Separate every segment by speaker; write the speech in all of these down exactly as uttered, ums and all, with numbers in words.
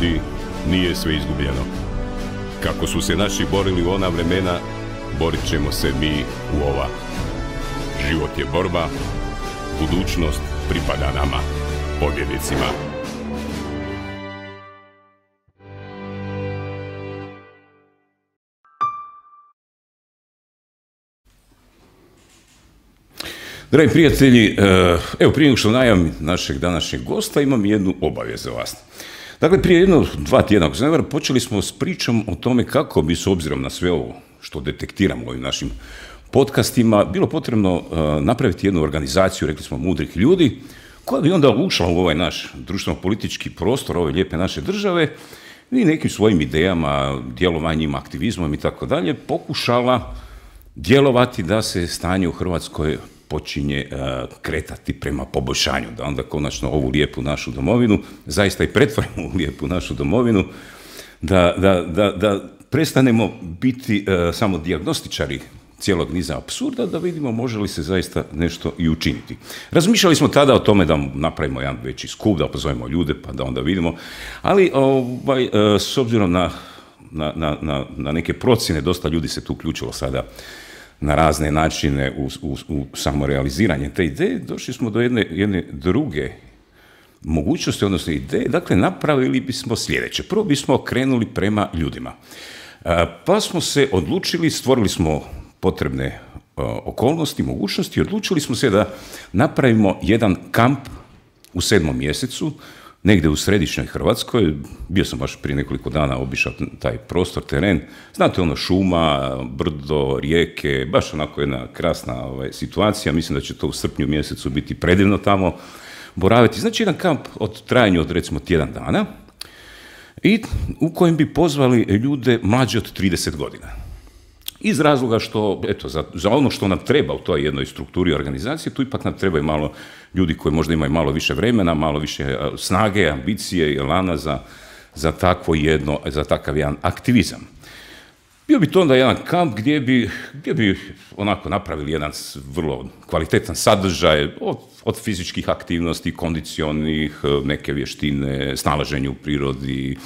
Speaker 1: ljudi, nije sve izgubljeno. Kako su se naši borili u ona vremena, borit ćemo se mi u ova. Život je borba, budućnost pripada nama, pobjednicima. Dragi prijatelji, evo prije nego što najavim našeg današnjeg gosta, imam jednu obavijest za vas. Dakle, prije jedno dva tjedna, ako se ne varam, počeli smo s pričom o tome kako bi, s obzirom na sve ovo što detektiramo u ovim našim podcastima, bilo potrebno napraviti jednu organizaciju, rekli smo, mudrih ljudi, koja bi onda ušla u ovaj naš društveno-politički prostor ove lijepe naše države i nekim svojim idejama, djelovanjima, aktivizmom i tako dalje, pokušala djelovati da se stanje u Hrvatskoj počinje uh, kretati prema poboljšanju, da onda konačno ovu lijepu našu domovinu zaista i pretvorimo u lijepu našu domovinu, da, da, da, da prestanemo biti uh, samo dijagnostičari cijelog niza apsurda, da vidimo može li se zaista nešto i učiniti. Razmišljali smo tada o tome da napravimo jedan veći skup, da pozovemo ljude pa da onda vidimo, ali ovaj, uh, s obzirom na, na, na, na neke procjene, dosta ljudi se tu uključilo sada na razne načine u, u, u samorealiziranje te ideje, došli smo do jedne, jedne druge mogućnosti, odnosno ideje. Dakle, napravili bismo sljedeće. Prvo bismo krenuli prema ljudima. Pa smo se odlučili, stvorili smo potrebne okolnosti, mogućnosti, odlučili smo se da napravimo jedan kamp u sedmom mjesecu, negdje u središnjoj Hrvatskoj. Bio sam baš prije nekoliko dana obišao taj prostor, teren. Znate, ono, šuma, brdo, rijeke, baš onako jedna krasna ovaj, situacija. Mislim da će to u srpnju mjesecu biti predivno tamo boraviti. Znači, jedan kamp od trajanju od recimo tjedan dana i u kojem bi pozvali ljude mlađe od trideset godina. Iz razloga što, eto, za, za ono što nam treba u toj jednoj strukturi organizacije, tu ipak nam trebaju malo ljudi koji možda imaju malo više vremena, malo više snage, ambicije i elana za, za takvo jedno, za takav jedan aktivizam. Bio bi to onda jedan kamp gdje bi, gdje bi onako napravili jedan vrlo kvalitetan sadržaj od, od fizičkih aktivnosti, kondicionih, neke vještine, snalaženje u prirodi,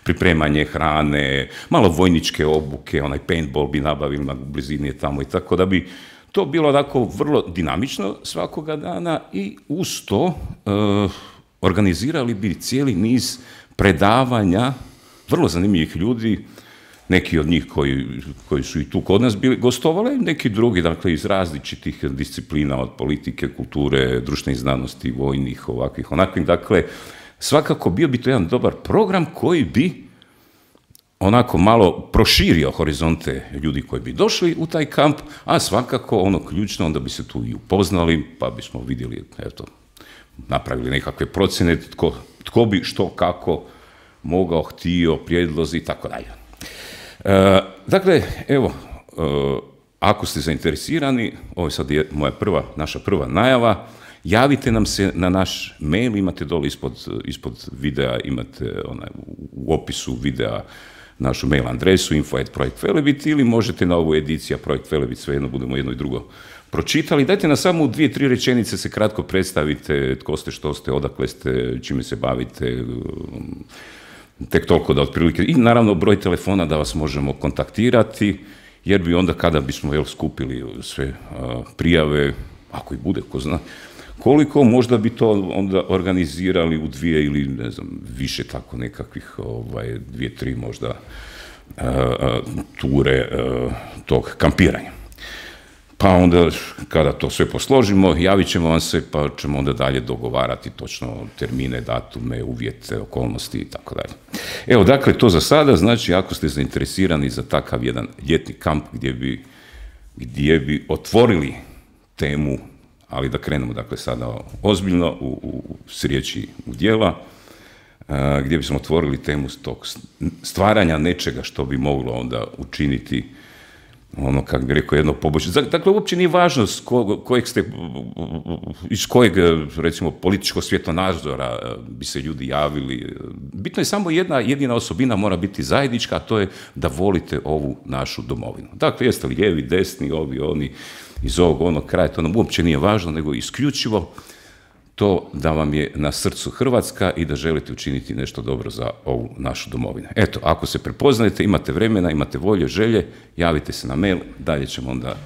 Speaker 1: pripremanje hrane, malo vojničke obuke, onaj paintball bi nabavili na blizini tamo i tako, da bi to bilo onako vrlo dinamično svakoga dana i uz to uh, organizirali bi cijeli niz predavanja vrlo zanimljivih ljudi, neki od njih koji, koji su i tu kod nas bili gostovali, neki drugi, dakle, iz različitih disciplina, od politike, kulture, društvenih znanosti, vojnih, ovakvih, onakvih, dakle, svakako bio bi to jedan dobar program koji bi onako malo proširio horizonte ljudi koji bi došli u taj kamp, a svakako ono ključno, onda bi se tu i upoznali, pa bismo vidjeli, eto, napravili nekakve procjene, tko, tko bi što, kako mogao, htio, prijedlozi i tako dalje. E, dakle, evo, e, ako ste zainteresirani, ovo je sad je moja prva, naša prva najava, javite nam se na naš mail, imate dole ispod, ispod videa, imate onaj, u opisu videa našu mail adresu info at projekt velebit ili možete na ovu ediciju Projekt Velebit, svejedno budemo jedno i drugo pročitali. Dajte nam samo u dvije, tri rečenice se kratko predstavite, tko ste, što ste, odakle ste, čime se bavite, tek toliko da otprilike, i naravno broj telefona da vas možemo kontaktirati, jer bi onda kada bismo jel, skupili sve a, prijave, ako i bude, ko zna, koliko možda bi to onda organizirali u dvije ili ne znam, više tako nekakvih, ovaj, dvije, tri možda uh, ture uh, tog kampiranja. Pa onda kada to sve posložimo, javit ćemo vam se pa ćemo onda dalje dogovarati točno termine, datume, uvjete, okolnosti i tako dalje. Evo, dakle, to za sada, znači ako ste zainteresirani za takav jedan ljetni kamp gdje bi, gdje bi otvorili temu, ali da krenemo dakle sada ozbiljno u, u, s riječi u djela, a, gdje bismo otvorili temu tog stvaranja nečega što bi moglo onda učiniti ono, kako bi rekao, jedno poboljšanje. Dakle, uopće nije važno s ko, kojeg ste, iz kojeg, recimo, političkog svjetonazora bi se ljudi javili. Bitno je samo jedna jedina osobina mora biti zajednička, a to je da volite ovu našu domovinu. Dakle, jeste li lijevi, desni, ovi, oni, iz ovog onog kraja, to nam uopće nije važno, nego isključivo to da vam je na srcu Hrvatska i da želite učiniti nešto dobro za ovu našu domovinu. Eto, ako se prepoznajete, imate vremena, imate volje, želje, javite se na mail, dalje ćemo onda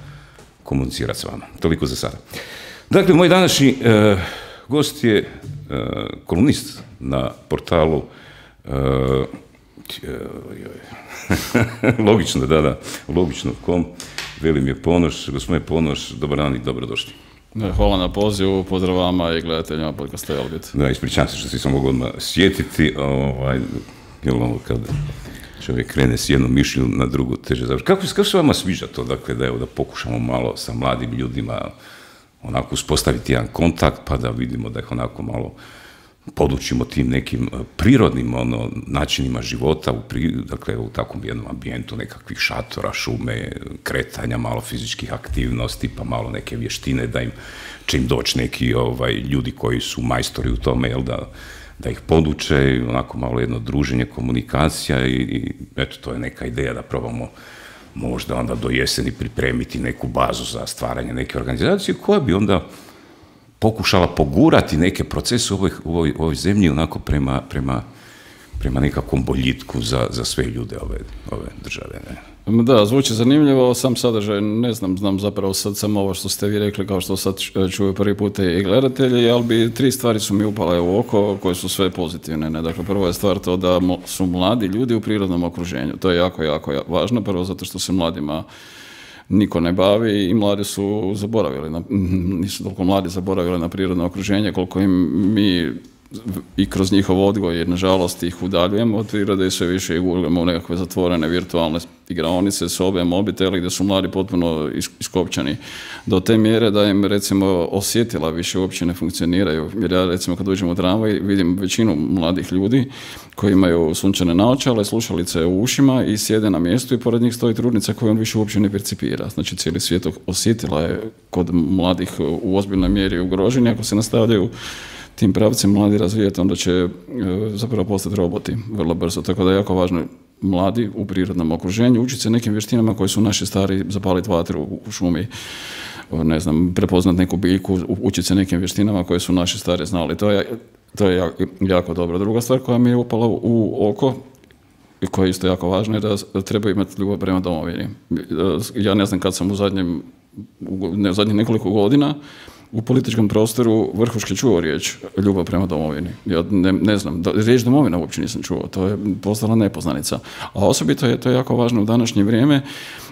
Speaker 1: komunicirati s vama. Toliko za sada. Dakle, moj današnji e, gost je e, kolumnist na portalu e, logično, da, da, logično kom, Velimir Ponoš. Gospodine Ponoš, dobar dan i dobrodošli.
Speaker 2: Hvala na pozivu, pozdrav vama i gledateljima podcasta Elbit.
Speaker 1: Da, ispričavam se što si sam mogu odmah sjetiti, ovaj, jel ono kad čovjek krene s jednom mišlju na drugu teže završi. Kako, kako se vama sviđa to, dakle, da, evo, da pokušamo malo sa mladim ljudima onako uspostaviti jedan kontakt, pa da vidimo da ih onako malo podučimo tim nekim prirodnim ono, načinima života, u, pri, dakle, u takvom jednom ambijentu nekakvih šatora, šume, kretanja, malo fizičkih aktivnosti, pa malo neke vještine, da im će im doći neki ovaj, ljudi koji su majstori u tome, jel, da, da ih poduče, onako malo jedno druženje, komunikacija i, i eto, to je neka ideja da probamo možda onda do jeseni pripremiti neku bazu za stvaranje neke organizacije koja bi onda pokušala pogurati neke procese u ovoj, u ovoj, u ovoj zemlji onako prema, prema, prema nekakvom boljitku za, za sve ljude ove, ove države. Ne?
Speaker 2: Da, zvuči zanimljivo, sam sadržaj ne znam, znam zapravo sad samo ovo što ste vi rekli, kao što sad čuju prvi put i gledatelji, ali bi tri stvari su mi upale u oko koje su sve pozitivne. Ne? Dakle, prvo je stvar to da su mladi ljudi u prirodnom okruženju. To je jako, jako važno, prvo zato što se mladima niko ne bavi i mladi su zaboravili, na, nisu toliko mladi zaboravili na prirodno okruženje koliko im mi i kroz njihov odgoj, jer nažalost ih udaljujemo od prirode i sve više ih gurujemo u nekakve zatvorene virtualne igraonice, sobe, mobiteli gdje su mladi potpuno iskopčani do te mjere da im recimo osjetila više uopće ne funkcioniraju. Jer ja recimo kad uđem u tramvaj vidim većinu mladih ljudi koji imaju sunčane naočale, slušalice u ušima i sjede na mjestu i pored njih stoji trudnica koju on više uopće ne percipira. Znači cijeli svijet osjetila je kod mladih u ozbiljnoj mjeri ugroženi. Ako se nastavljaju tim pravcem mladi razvijati, onda će e, zapravo postati roboti vrlo brzo. Tako da je jako važno mladi u prirodnom okruženju učiti se nekim vještinama koji su naši stari, zapaliti vatru u šumi, ne znam, prepoznat neku biljku, učiti se nekim vještinama koje su naši stari znali. To je, to je jako, jako dobro. Druga stvar koja mi je upala u, u oko i koja je isto jako važna je da treba imati ljubav prema domovini. Ja ne znam kad sam u zadnjem, u ne, zadnjih nekoliko godina u političkom prostoru vrhuški čuo riječ ljubav prema domovini. Ja ne, ne znam, do, riječ domovina uopće nisam čuo, to je postala nepoznanica. A osobito je to jako važno u današnje vrijeme,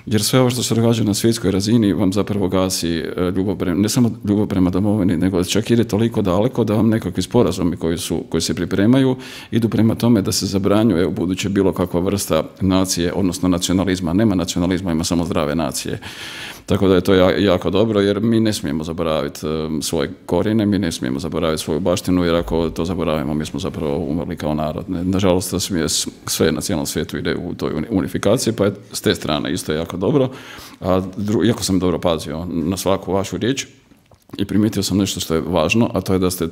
Speaker 2: jer sve ovo što se događa na svjetskoj razini vam zapravo gasi ljubav prema, ne samo ljubav prema domovini, nego čak ide toliko daleko da vam nekakvi sporazumi koji, su, koji se pripremaju idu prema tome da se zabranjuje u buduće bilo kakva vrsta nacije, odnosno nacionalizma. Nema nacionalizma, ima samo zdrave nacije. Tako da je to jako dobro, jer mi ne smijemo zaboraviti svoje korijene, mi ne smijemo zaboraviti svoju baštinu, jer ako to zaboravimo, mi smo zapravo umrli kao narod. Nažalost, sve na cijelom svijetu ide u toj unifikaciji, pa je s te strane isto jako dobro. A dru, iako sam dobro pazio na svaku vašu riječ i primijetio sam nešto što je važno, a to je da ste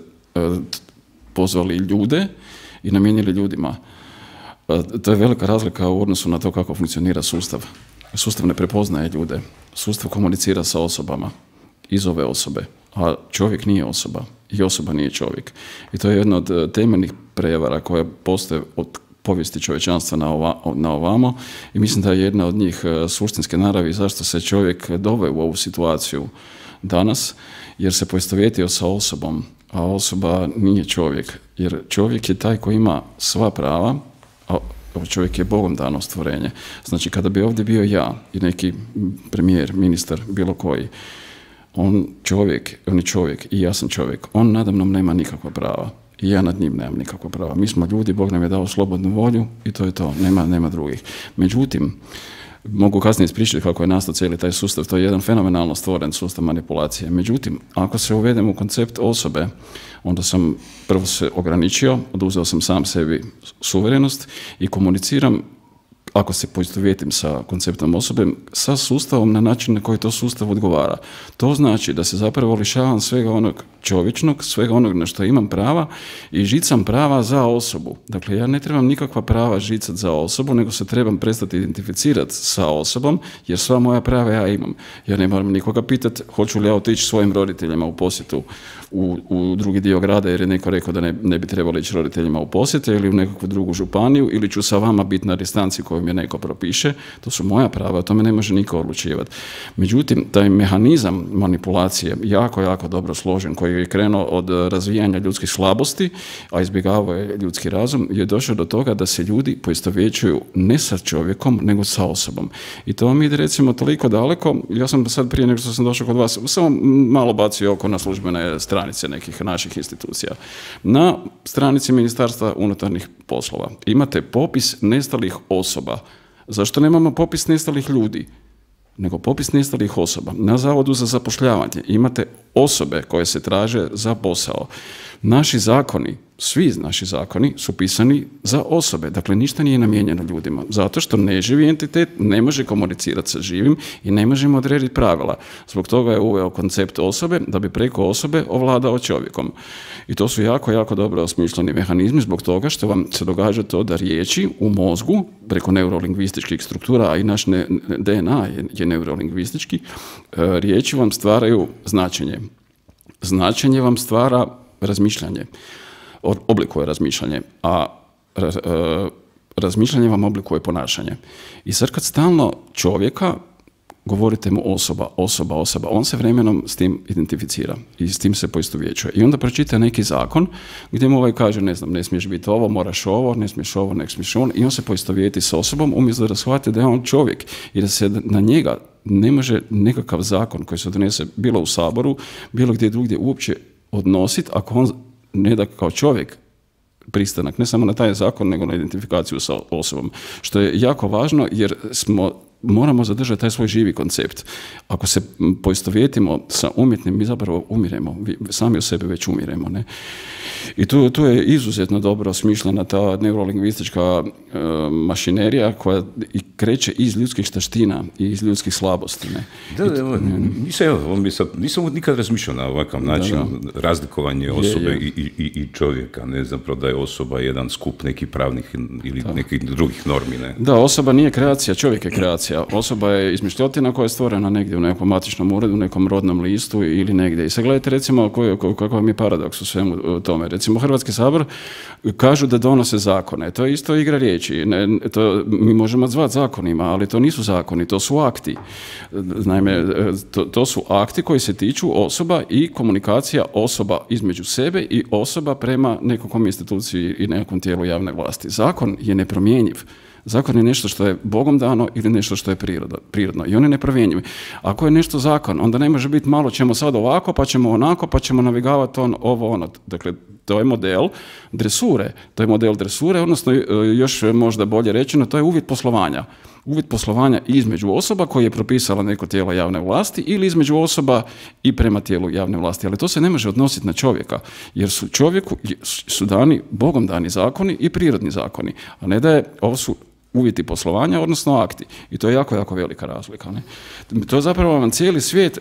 Speaker 2: pozvali ljude i namijenili ljudima. To je velika razlika u odnosu na to kako funkcionira sustav. Sustav ne prepoznaje ljude. Sustav komunicira sa osobama iz ove osobe, a čovjek nije osoba i osoba nije čovjek. I to je jedna od temeljnih prevara koja postoje od povijesti čovječanstva na, ova, na ovamo i mislim da je jedna od njih suštinske naravi zašto se čovjek doveo u ovu situaciju danas, jer se poistovjetio sa osobom, a osoba nije čovjek, jer čovjek je taj koji ima sva prava, a čovjek je Bogom dano stvorenje. Znači, kada bi ovdje bio ja i neki premijer, ministar, bilo koji, on čovjek, on je čovjek i ja sam čovjek, on nadamnom nema nikakva prava i ja nad njim nemam nikakva prava. Mi smo ljudi, Bog nam je dao slobodnu volju i to je to, nema, nema drugih. Međutim, mogu kasnije ispričati kako je nastao cijeli taj sustav, to je jedan fenomenalno stvoren sustav manipulacije. Međutim, ako se uvedem u koncept osobe, onda sam prvo se ograničio, oduzeo sam sam sebi suverenost i komuniciram ako se poistovjetim sa konceptom osobe, sa sustavom na način na koji to sustav odgovara. To znači da se zapravo lišavam svega onog čovječnog, svega onog na što imam prava i žicam prava za osobu. Dakle, ja ne trebam nikakva prava žicati za osobu, nego se trebam prestati identificirati sa osobom, jer sva moja prava ja imam. Ja ne moram nikoga pitati hoću li ja otići svojim roditeljima u posjetu u, u drugi dio grada, jer je neko rekao da ne, ne bi trebalo ići roditeljima u posjete ili u nekakvu drugu županiju, ili ću sa vama biti na distanci koju mi neko propiše. To su moja prava, o tome ne može niko odlučivati. Međutim, taj mehanizam manipulacije jako, jako dobro složen, koji je krenuo od razvijanja ljudskih slabosti, a izbjegavao je ljudski razum, je došao do toga da se ljudi poistovjećuju ne sa čovjekom, nego sa osobom. I to mi ide recimo toliko daleko, ja sam sad prije nego što sam došao kod vas, samo malo bacio oko na službene stranice nekih naših institucija. Na stranici Ministarstva unutarnjih poslova imate popis nestalih osoba. Zašto nemamo popis nestalih ljudi? Nego popis nestalih osoba. Na Zavodu za zapošljavanje imate osobe koje se traže za posao. Naši zakoni, svi naši zakoni su pisani za osobe. Dakle, ništa nije namijenjeno ljudima. Zato što neživi entitet ne može komunicirati sa živim i ne možemo odrediti pravila. Zbog toga je uveo koncept osobe da bi preko osobe ovladao čovjekom. I to su jako, jako dobro osmišljeni mehanizmi zbog toga što vam se događa to da riječi u mozgu, preko neurolingvističkih struktura, a i naš D N A je, je neurolingvistički, riječi vam stvaraju značenje. Značenje vam stvara razmišljanje, oblikuje razmišljanje, a razmišljanje vam oblikuje ponašanje. I sad kad stalno čovjeka govorite mu osoba, osoba, osoba, on se vremenom s tim identificira i s tim se poistovjećuje. I onda pročita neki zakon gdje mu ovaj kaže, ne znam, ne smiješ biti ovo, moraš ovo, ne smiješ ovo, ne smiješ on, i on se poistovjeti s osobom umjesto da shvati da je on čovjek i da se na njega ne može nekakav zakon koji se donese bilo u Saboru, bilo gdje drugdje uopće odnositi ako on ne da kao čovjek pristanak, ne samo na taj zakon, nego na identifikaciju sa osobom. Što je jako važno jer smo moramo zadržati taj svoj živi koncept. Ako se poistovjetimo sa umjetnim, mi zapravo umiremo, sami u sebi već umiremo. Ne? I tu, tu je izuzetno dobro smišljena ta neurolingvistička e, mašinerija koja i kreće iz ljudskih taština i iz ljudskih slabosti. Ne?
Speaker 1: Da, da, evo, nisam, evo, nisam nikad razmišljao na ovakav način, da, da. razlikovanje osobe je, je. I, i, i čovjeka, ne zapravo da je osoba jedan skup nekih pravnih ili da. nekih drugih normi. Ne? Da,
Speaker 2: osoba nije kreacija, čovjek je kreacija. Osoba je izmišljotina koja je stvorena negdje u nekom matičnom uredu, u nekom rodnom listu ili negdje. I sad gledajte recimo kakav vam je paradoks u svemu tome. Recimo Hrvatski sabor kažu da donose zakone. To je isto igra riječi. Ne, to, mi možemo zvati zakonima, ali to nisu zakoni, to su akti. Naime, to, to su akti koji se tiču osoba i komunikacija osoba između sebe i osoba prema nekakvom instituciji i nekom tijelu javne vlasti. Zakon je nepromjenjiv. Zakon je nešto što je Bogom dano ili nešto što je prirodno i on je nepromjenjiv. Ako je nešto zakon, onda ne može biti malo ćemo sad ovako, pa ćemo onako, pa ćemo navigavati on ovo ono. Dakle, to je model dresure. To je model dresure, odnosno još možda bolje rečeno, to je uvjet poslovanja. Uvjet poslovanja između osoba koje je propisala neko tijelo javne vlasti ili između osoba i prema tijelu javne vlasti. Ali to se ne može odnositi na čovjeka, jer su čovjeku su dani, Bogom dani zakoni i prirodni zakoni, a ne da je, ovo su uvjeti poslovanja, odnosno akti. I to je jako, jako velika razlika. Ne? To je zapravo vam cijeli svijet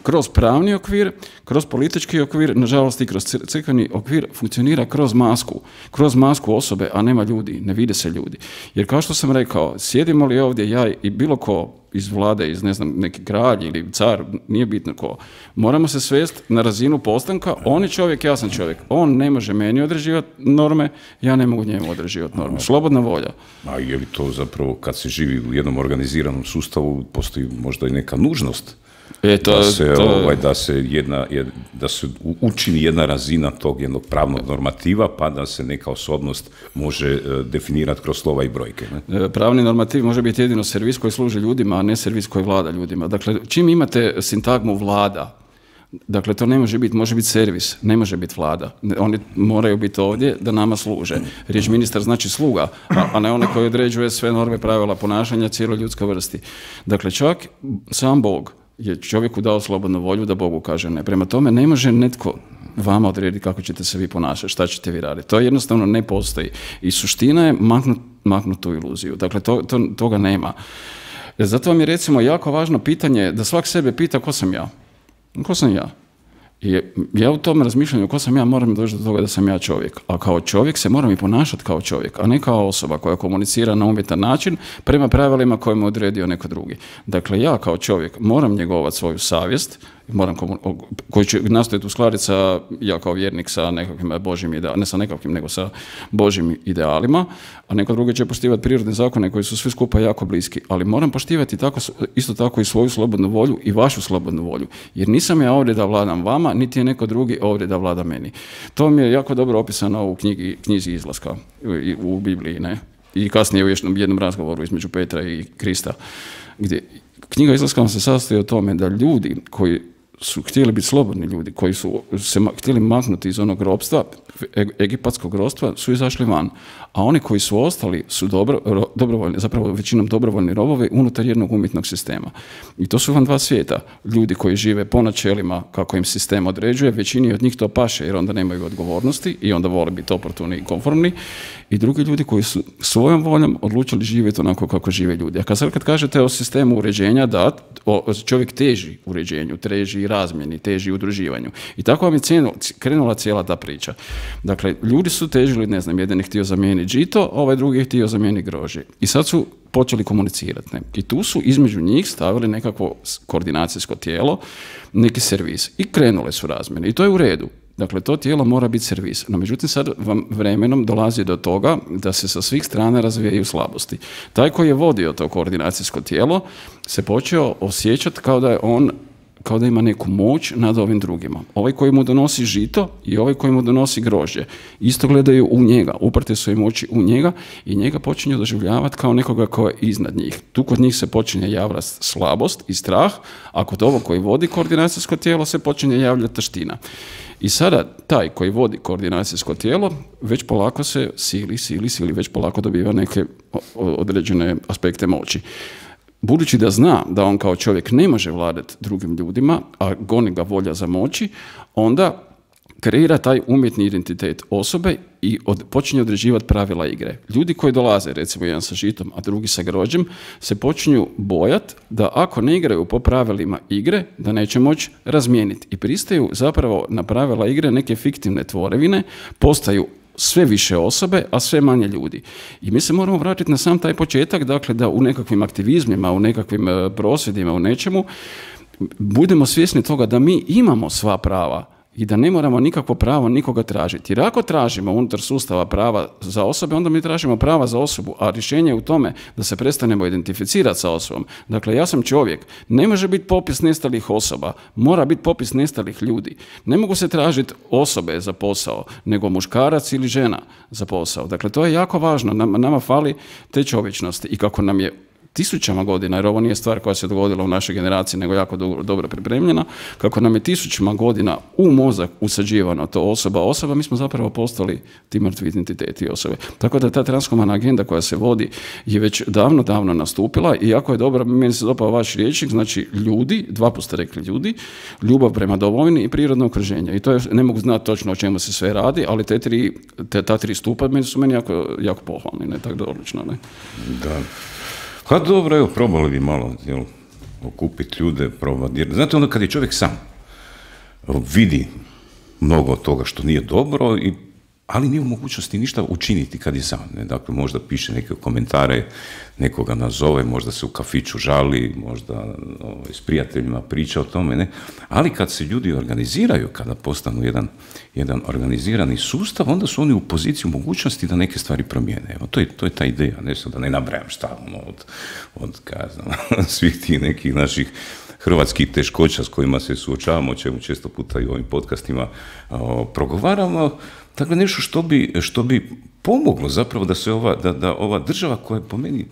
Speaker 2: kroz pravni okvir, kroz politički okvir, nažalost i kroz crkveni okvir funkcionira kroz masku. Kroz masku osobe, a nema ljudi, ne vide se ljudi. Jer kao što sam rekao, sjedimo li ovdje ja i bilo ko iz vlade, iz ne znam, neki kralj ili car, nije bitno ko. Moramo se svesti na razinu postanka, on je čovjek, ja sam čovjek. On ne može meni određivati norme, ja ne mogu njemu određivati norme. Slobodna volja.
Speaker 1: A je li to zapravo, kad se živi u jednom organiziranom sustavu, postoji možda i neka nužnost? E, to, da, se, to... ovaj, da, se jedna, da se učini jedna razina tog jednog pravnog normativa, pa da se neka osobnost može definirati kroz slova i brojke. Ne?
Speaker 2: Pravni normativ može biti jedino servis koji služi ljudima, a ne servis koji vlada ljudima. Dakle, čim imate sintagmu vlada, dakle, to ne može biti, može biti servis, ne može biti vlada. Oni moraju biti ovdje da nama služe. Riječ ministar znači sluga, a ne onaj koji određuje sve norme, pravila ponašanja cijeloj ljudskoj vrsti. Dakle, čak sam Bog je čovjeku dao slobodnu volju da Bogu kaže ne. Prema tome ne može netko vama odrediti kako ćete se vi ponašati, šta ćete vi raditi. To jednostavno ne postoji. I suština je maknuti maknuti tu iluziju. Dakle, to, to, toga nema. Zato vam je recimo jako važno pitanje da svak sebe pita ko sam ja. Ko sam ja? I ja u tom razmišljanju ko sam ja moram doći do toga da sam ja čovjek. A kao čovjek se moram i ponašati kao čovjek, a ne kao osoba koja komunicira na umjetan način prema pravilima koje mu odredio neko drugi. Dakle, ja kao čovjek moram njegovati svoju savjest, moram komu- koji će nastojati uskladiti sa, ja kao vjernik sa nekakvim Božjim idealima, ne sa nekakvim, nego sa Božjim idealima, a neko drugi će poštivati prirodne zakone koji su svi skupa jako bliski, ali moram poštivati tako, isto tako i svoju slobodnu volju i vašu slobodnu volju, jer nisam ja ovdje da vladam vama, niti je neko drugi ovdje da vlada meni. To mi je jako dobro opisano u knjigi, knjizi Izlaska, u, u Bibliji, ne? I kasnije u jednom, jednom razgovoru između Petra i Krista, gdje knjiga Izlaska se sastoji o tome da ljudi koji su htjeli biti slobodni ljudi, koji su se ma- htjeli maknuti iz onog ropstva, e- egipatskog ropstva, su izašli van. A oni koji su ostali su dobro, ro, dobrovoljni, zapravo većinom dobrovoljni robovi unutar jednog umjetnog sistema. I to su vam dva svijeta. Ljudi koji žive po načelima kako im sistem određuje, većini od njih to paše jer onda nemaju odgovornosti i onda vole biti oportuni i konformni. I drugi ljudi koji su svojom voljom odlučili živjeti onako kako žive ljudi. A kad sad kad kažete o sistemu uređenja, da, o, čovjek teži uređenju, teži razmjeni, teži udruživanju. I tako vam je cijenu, krenula cijela ta priča. Dakle, ljudi su težili, ne znam, jedan je htio zamijeniti žito, ovaj drugi je htio zamijeniti grožđe. I sad su počeli komunicirati. Ne? I tu su između njih stavili nekakvo koordinacijsko tijelo, neki servis. I krenule su razmjene. I to je u redu. Dakle, to tijelo mora biti servis. No, međutim, sad vam vremenom dolazi do toga da se sa svih strana razvijaju slabosti. Taj koji je vodio to koordinacijsko tijelo se počeo osjećati kao da je on kao da ima neku moć nad ovim drugima. Ovaj koji mu donosi žito i ovaj koji mu donosi grožđe isto gledaju u njega, uprte su im oči u njega i njega počinju doživljavati kao nekoga ko je iznad njih. Tu kod njih se počinje javljati slabost i strah, a kod ovog koji vodi koordinacijsko tijelo se počinje javljati taština. I sada taj koji vodi koordinacijsko tijelo već polako se sili, sili, sili, već polako dobiva neke određene aspekte moći. Budući da zna da on kao čovjek ne može vladati drugim ljudima, a goni ga volja za moći, onda kreira taj umjetni identitet osobe i od, počinje određivati pravila igre. Ljudi koji dolaze, recimo jedan sa žitom, a drugi sa grožđem, se počinju bojati da ako ne igraju po pravilima igre, da neće moći razmijeniti. I pristaju zapravo na pravila igre neke fiktivne tvorevine, postaju sve više osobe, a sve manje ljudi. I mi se moramo vratiti na sam taj početak, dakle da u nekakvim aktivizmima, u nekakvim prosvjedima, u nečemu, budemo svjesni toga da mi imamo sva prava i da ne moramo nikakvo pravo nikoga tražiti. Jer ako tražimo unutar sustava prava za osobe, onda mi tražimo prava za osobu, a rješenje je u tome da se prestanemo identificirati sa osobom. Dakle, ja sam čovjek, ne može biti popis nestalih osoba, mora biti popis nestalih ljudi. Ne mogu se tražiti osobe za posao, nego muškarac ili žena za posao. Dakle, to je jako važno, nama, nama fali te čovječnosti i kako nam je tisućama godina, jer ovo nije stvar koja se dogodila u našoj generaciji, nego jako dobro, dobro pripremljena, kako nam je tisućama godina u mozak usađivano to osoba osoba, mi smo zapravo postali ti mrtvi identiteti osobe. Tako da ta transhumana agenda koja se vodi je već davno, davno nastupila i jako je dobra, meni se dopao vaš riječnik, znači ljudi, dva put ste rekli ljudi, ljubav prema domovini i prirodno okruženje. I to je, ne mogu znati točno o čemu se sve radi, ali te tri, te, ta tri stupa meni su meni jako, jako pohvalni, ne, tako da odlično, ne.
Speaker 1: Da. Pa dobro, evo, probali bi malo, jel, okupiti ljude, probati. Jer, znate, onda kad je čovjek sam, vidi mnogo toga što nije dobro, i, ali nije u mogućnosti ništa učiniti kad je sam. Ne? Dakle, možda piše neke komentare, nekoga nazove, možda se u kafiću žali, možda ovaj, s prijateljima priča o tome, ne? Ali kad se ljudi organiziraju, kada postanu jedan, jedan organizirani sustav, onda su oni u poziciji, u mogućnosti da neke stvari promijene. Evo, to je, to je ta ideja, ne sad da ne nabrajam šta, ono, od, od kazam, svih tih nekih naših hrvatskih teškoća s kojima se suočavamo, o čemu često puta i u ovim podcastima o, progovaramo. Dakle, nešto što bi, što bi pomoglo zapravo da se ova, da, da ova država koja je po meni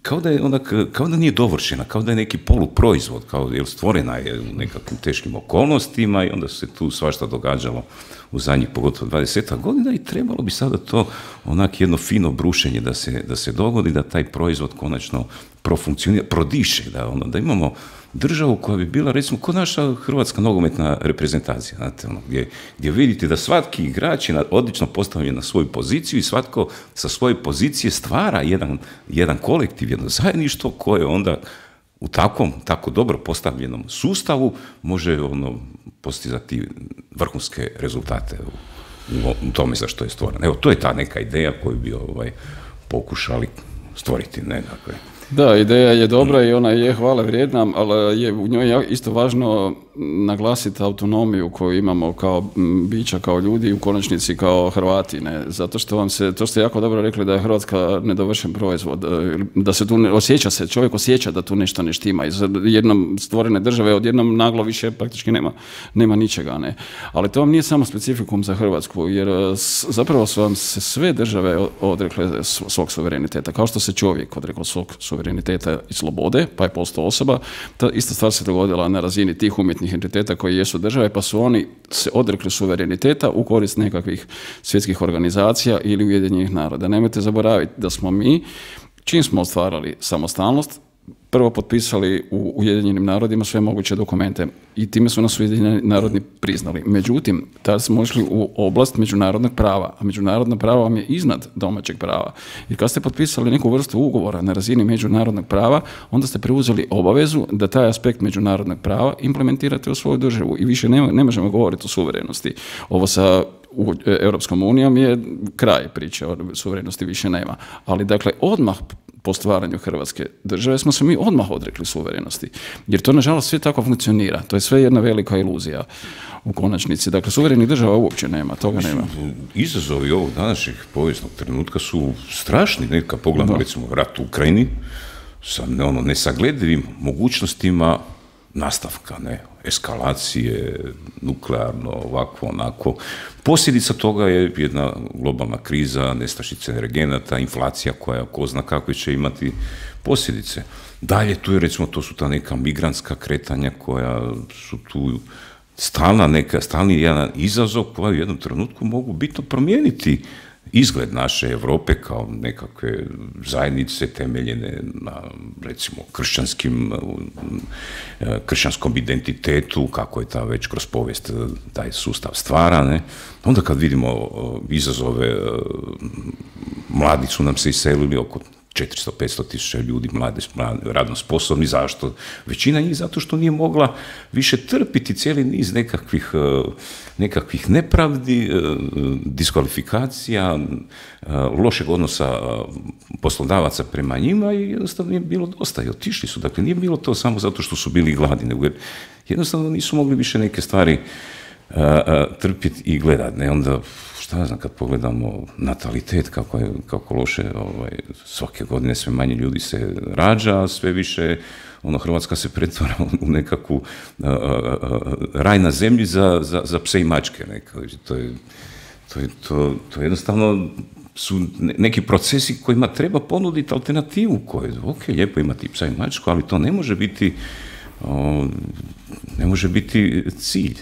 Speaker 1: kao da je ona, kao da nije dovršena, kao da je neki poluproizvod, kao jer stvorena je u nekakvim teškim okolnostima i onda se tu svašta događalo u zadnjih pogotovo dvadesetak godina i trebalo bi sada to onak jedno fino brušenje da se, da se dogodi, da taj proizvod konačno profunkcionira, prodiše, da, ono, da imamo državu koja bi bila, recimo, kod naša hrvatska nogometna reprezentacija, znate, ono, gdje, gdje vidite da svaki igrač je odlično postavljen na svoju poziciju i svatko sa svoje pozicije stvara jedan, jedan kolektiv, jedno zajedništvo koje onda u takvom, tako dobro postavljenom sustavu može ono, postizati vrhunske rezultate u, u tome za što je stvoreno. Evo, to je ta neka ideja koju bi ovaj, pokušali stvoriti, ne, dakle.
Speaker 2: Da, ideja je dobra i ona je hvale vrijedna, ali je u njoj isto važno naglasiti autonomiju koju imamo kao bića, kao ljudi, u konačnici kao Hrvati, ne? Zato što vam se, to ste jako dobro rekli da je Hrvatska nedovršen proizvod, da se tu ne, osjeća se, čovjek osjeća da tu nešto ne štima. Iz jednom stvorene države odjednom naglo više praktički nema, nema ničega, ne? Ali to vam nije samo specifikum za Hrvatsku, jer zapravo su vam se sve države odrekle svog suvereniteta, kao što se čovjek odrekao svog suvereniteta i slobode, pa je postao osoba. Ta ista stvar se dogodila na razini tih umjetnih entiteta koji jesu države, pa su oni se odrekli suvereniteta u korist nekakvih svjetskih organizacija ili Ujedinjenih naroda. Nemojte zaboraviti da smo mi, čim smo ostvarali samostalnost, prvo potpisali u Ujedinjenim narodima sve moguće dokumente i time su nas Ujedinjeni narodi priznali. Međutim, tada smo išli u oblast međunarodnog prava, a međunarodno pravo vam je iznad domaćeg prava. I kad ste potpisali neku vrstu ugovora na razini međunarodnog prava, onda ste preuzeli obavezu da taj aspekt međunarodnog prava implementirate u svoju državu i više ne, ne možemo govoriti o suverenosti. Ovo sa u Europskom unijom je kraj priče, o suverenosti više nema. Ali dakle, odmah po stvaranju Hrvatske države smo se mi odmah odrekli suverenosti. Jer to, nažalost, sve tako funkcionira. To je sve jedna velika iluzija u konačnici. Dakle, suverenih država uopće nema, toga nema.
Speaker 1: Izazovi ovog današnjeg povijesnog trenutka su strašni. Neka pogledamo, recimo, rat u Ukrajini sa ono, nesagledivim mogućnostima nastavka, ne, eskalacije, nuklearno, ovako, onako. Posljedica toga je jedna globalna kriza, nestašice energenata, inflacija koja ko zna kakve će imati posljedice. Dalje tu je, recimo, to su ta neka migrantska kretanja koja su tu stalna neka, stalni jedan izazov koji u jednom trenutku mogu bitno promijeniti izgled naše Europe kao nekakve zajednice temeljene na, recimo, kršćanskim, kršćanskom identitetu, kako je ta već kroz povijest taj sustav stvara, ne? Onda kad vidimo izazove, mladi su nam se iselili, oko četiristo do petsto tisuća ljudi, mladi, radno sposobni. Zašto? Većina njih zato što nije mogla više trpiti cijeli niz nekakvih, nekakvih nepravdi, diskvalifikacija, lošeg odnosa poslodavaca prema njima i jednostavno nije bilo dosta i otišli su. Dakle, nije bilo to samo zato što su bili gladni, nego jednostavno nisu mogli više neke stvari trpiti i gledati. Ne? Onda, šta znam, kad pogledamo natalitet, kako, je, kako loše, ovaj, svake godine sve manje ljudi se rađa, a sve više ono, Hrvatska se pretvara u nekakvu uh, uh, raj na zemlji za, za, za pse i mačke. Neka. To, je, to, je, to, to jednostavno su neki procesi kojima treba ponuditi alternativu koju, ok, lijepo imati psa i mačku, ali to ne može biti, uh, ne može biti cilj.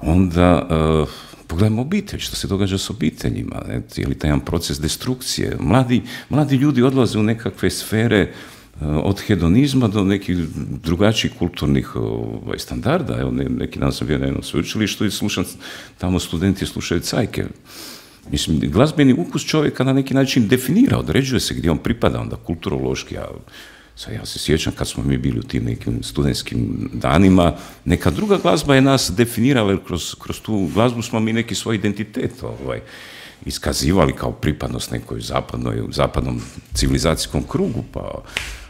Speaker 1: Onda uh, pogledajmo obitelj, što se događa s obiteljima, ne? Je li taj jedan proces destrukcije. Mladi, mladi ljudi odlaze u nekakve sfere uh, od hedonizma do nekih drugačijih kulturnih uh, standarda. Evo, ne, neki dan sam bio na jednom sveučilištu i slušam, tamo studenti slušaju cajke. Mislim, glazbeni ukus čovjeka na neki način definira, određuje se gdje on pripada, onda kulturološki, a sad ja se sjećam kad smo mi bili u tim nekim studentskim danima, neka druga glazba je nas definirala, jer kroz, kroz tu glazbu smo mi neki svoj identitet ovaj, iskazivali kao pripadnost nekoj zapadnoj, zapadnom civilizacijskom krugu. Pa,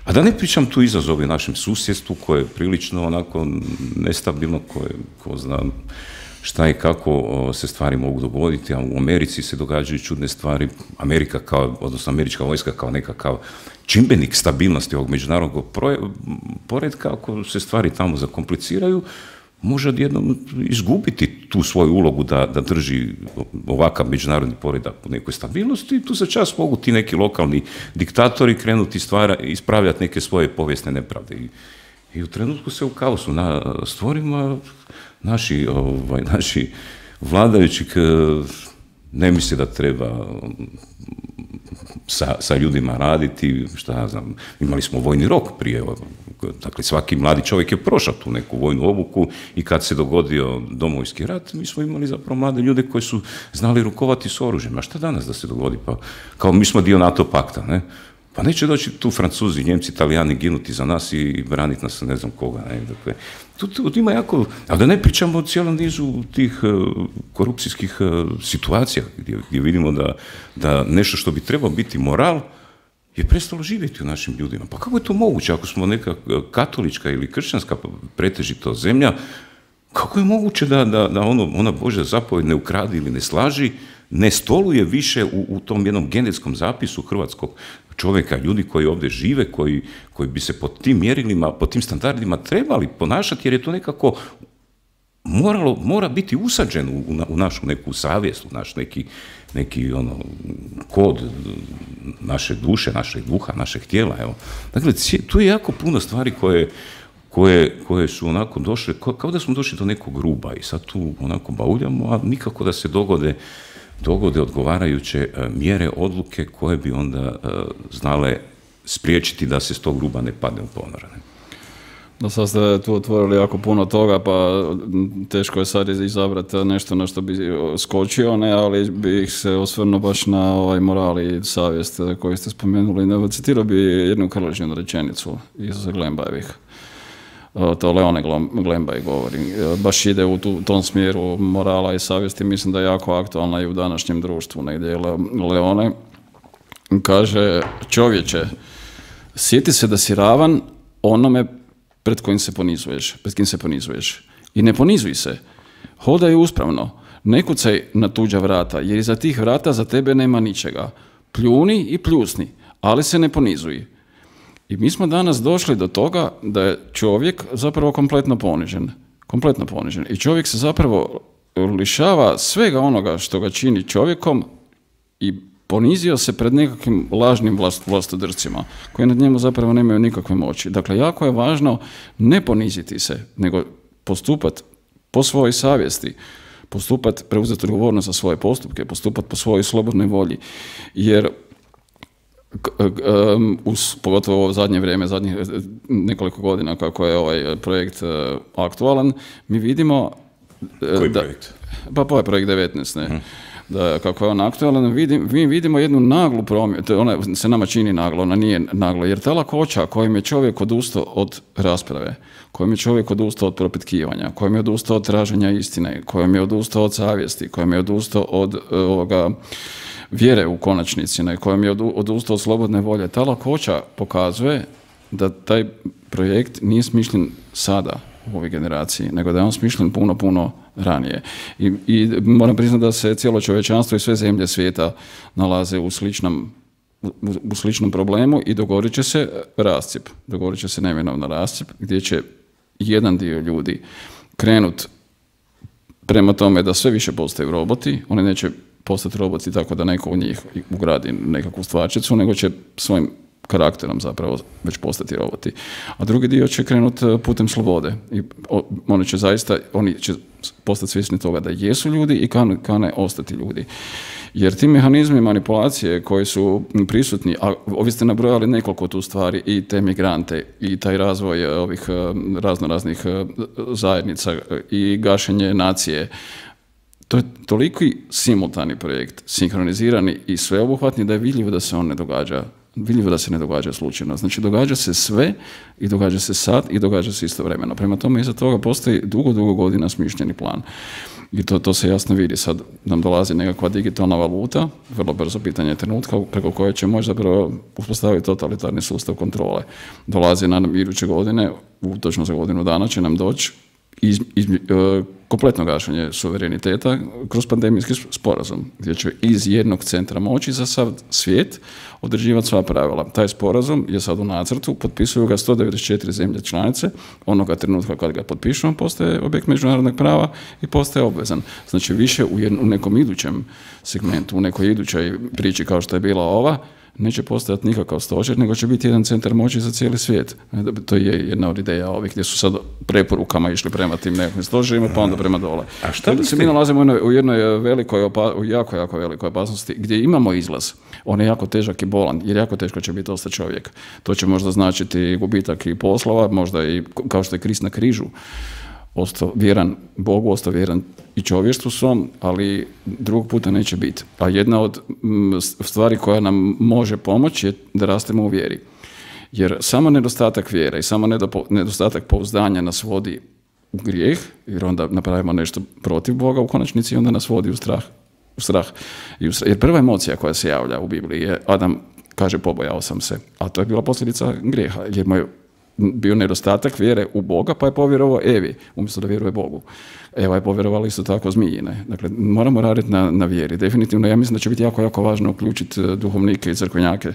Speaker 1: a da ne pričam tu izazovi našem susjedstvu koje je prilično onako nestabilno, koje, ko zna šta i kako se stvari mogu dogoditi, a u Americi se događaju čudne stvari. Amerika kao, odnosno američka vojska kao nekakav čimbenik stabilnosti ovog međunarodnog poretka, ako se stvari tamo zakompliciraju, može odjednom izgubiti tu svoju ulogu da, da drži ovakav međunarodni poredak u nekoj stabilnosti i tu za čas mogu ti neki lokalni diktatori krenuti stvara, ispravljati neke svoje povijesne nepravde. I, i u trenutku se u kaosu na stvorima naši, ovaj, naši vladajući ne misle da treba sa, sa ljudima raditi, šta ja znam, imali smo vojni rok prije dakle svaki mladi čovjek je prošao tu neku vojnu obuku i kad se dogodio Domovinski rat, mi smo imali zapravo mlade ljude koji su znali rukovati s oružjem. A šta danas da se dogodi? Pa kao mi smo dio NATO pakta, ne? Pa neće doći tu Francuzi, Njemci, Italijani ginuti za nas i braniti nas ne znam koga. Ne? Dakle, tu, tu ima jako, ali da ne pričamo o cijelom nizu tih uh, korupcijskih uh, situacija gdje, gdje vidimo da, da nešto što bi trebao biti moral je prestalo živjeti u našim ljudima. Pa kako je to moguće ako smo neka katolička ili kršćanska pretežito zemlja, kako je moguće da, da, da ono, ona Božja zapovjed ne ukradi ili ne slaži, ne stoluje više u, u tom jednom genetskom zapisu hrvatskog čovjeka, ljudi koji ovdje žive, koji, koji bi se po tim mjerilima, po tim standardima trebali ponašati, jer je to nekako moralo, mora biti usađen u, u našu neku savjest, u naš neki, neki ono, kod naše duše, našeg duha, našeg tijela. Evo. Dakle, tu je jako puno stvari koje, koje, koje su onako došle, kao da smo došli do nekog ruba i sad tu onako bauljamo, a nikako da se dogode dogode odgovarajuće mjere, odluke koje bi onda uh, znale spriječiti da se s tog gruba ne padne u ponor.
Speaker 2: Da, sad ste tu otvorili jako puno toga, pa teško je sad izabrati nešto na što bi skočio, ne, ali bih se osvrnuo baš na ovaj moral i savjest koji ste spomenuli. Citirao bi jednu Krležinu rečenicu iz Glembajevih. To Leone Glembaj govori. Baš ide u tu, tom smjeru morala i savjesti. Mislim da je jako aktualna i u današnjem društvu. Negdje Leone kaže: čovječe, sjeti se da si ravan onome pred kojim se ponizuješ, pred kim se ponizuješ. I ne ponizuj se. Hodaj uspravno. Ne kucaj na tuđa vrata, jer iza tih vrata za tebe nema ničega. Pljuni i pljusni, ali se ne ponizuj. I mi smo danas došli do toga da je čovjek zapravo kompletno ponižen. Kompletno ponižen. I čovjek se zapravo lišava svega onoga što ga čini čovjekom i ponizio se pred nekakvim lažnim vlast, vlastodrcima koji nad njemu zapravo nemaju nikakve moći. Dakle, jako je važno ne poniziti se, nego postupati po svojoj savjesti, postupati, preuzeti odgovornost za svoje postupke, postupati po svojoj slobodnoj volji. Jer uz, pogotovo u zadnje vrijeme, zadnjih nekoliko godina kako je ovaj projekt aktualan, mi vidimo...
Speaker 1: Koji
Speaker 2: da,
Speaker 1: projekt?
Speaker 2: Pa ovaj projekt devetnaest, ne. Hmm. Da, kako je on aktualan, vidim, mi vidimo jednu naglu promjenu, ona se nama čini naglo, ona nije naglo, jer ta lakoća kojim je čovjek odustao od rasprave, kojim je čovjek odustao od propitkivanja, kojim je odustao od traženja istine, kojim je odustao od savjesti, kojim je odustao od ovoga vjere u konačnici, na kojem je odustao od slobodne volje, ta lakoća pokazuje da taj projekt nije smišljen sada u ovoj generaciji, nego da je on smišljen puno, puno ranije. I, i moram priznati da se cijelo čovječanstvo i sve zemlje svijeta nalaze u sličnom, u, u sličnom problemu i dogodit će se rascjep. Dogodit će se neminovno rascjep gdje će jedan dio ljudi krenut prema tome da sve više postaju roboti, oni neće postati roboti tako da neko u njih ugradi nekakvu stvarčicu, nego će svojim karakterom zapravo već postati roboti. A drugi dio će krenuti putem slobode. I oni će zaista, oni će postati svjesni toga da jesu ljudi i kane, kane ostati ljudi. Jer ti mehanizmi manipulacije koji su prisutni, a ovi ste nabrojali nekoliko tu stvari, i te migrante, i taj razvoj ovih razno raznih zajednica, i gašenje nacije, to je toliki simultani projekt, sinkronizirani i sveobuhvatni da je vidljivo da se on ne događa, vidljivo da se ne događa slučajno. Znači, događa se sve i događa se sad i događa se istovremeno. Prema tome, iza toga postoji dugo, dugo godina smišljeni plan. I to, to se jasno vidi. Sad nam dolazi nekakva digitalna valuta, vrlo brzo, pitanje trenutka, preko koje će moći zapravo uspostaviti totalitarni sustav kontrole. Dolazi nam iduće godine, u točno za godinu dana će nam doći iz, iz, uh, kompletno gašenje suvereniteta kroz pandemijski sporazum, gdje će iz jednog centra moći za sav svijet određivati sva pravila. Taj sporazum je sad u nacrtu, potpisuju ga sto devedeset četiri zemlje članice, onoga trenutka kad ga potpišu, on postaje objekt međunarodnog prava i postaje obvezan. Znači, više u, jednu, u nekom idućem segmentu, u nekoj idućoj priči kao što je bila ova, neće postojati nikakav stožer, nego će biti jedan centar moći za cijeli svijet. To je jedna od ideja ovih gdje su sad preporukama išli prema tim nekakvim stožerima, pa onda prema dole.
Speaker 1: A šta
Speaker 2: se mi nalazimo u jednoj, u jednoj velikoj, opa, u jako, jako velikoj opasnosti, gdje imamo izlaz. On je jako težak i bolan, jer jako teško će biti ostati čovjek. To će možda značiti gubitak i poslova, možda i kao što je Krist na križu. Ostao vjeran Bogu, ostao vjeran i čovještvu svom, ali drugog puta neće biti. A jedna od stvari koja nam može pomoći je da rastemo u vjeri. Jer samo nedostatak vjere i samo nedostatak pouzdanja nas vodi u grijeh, jer onda napravimo nešto protiv Boga u konačnici i onda nas vodi u strah. U strah. I u strah. Jer prva emocija koja se javlja u Bibliji je Adam kaže pobojao sam se, a to je bila posljedica grijeha, jer mu je bio nedostatak vjere u Boga, pa je povjerovao Evi, umjesto da vjeruje Bogu. Eva je povjerovala isto tako zmijine. Dakle, moramo raditi na, na vjeri. Definitivno, ja mislim da će biti jako, jako važno uključiti duhovnike i crkvenjake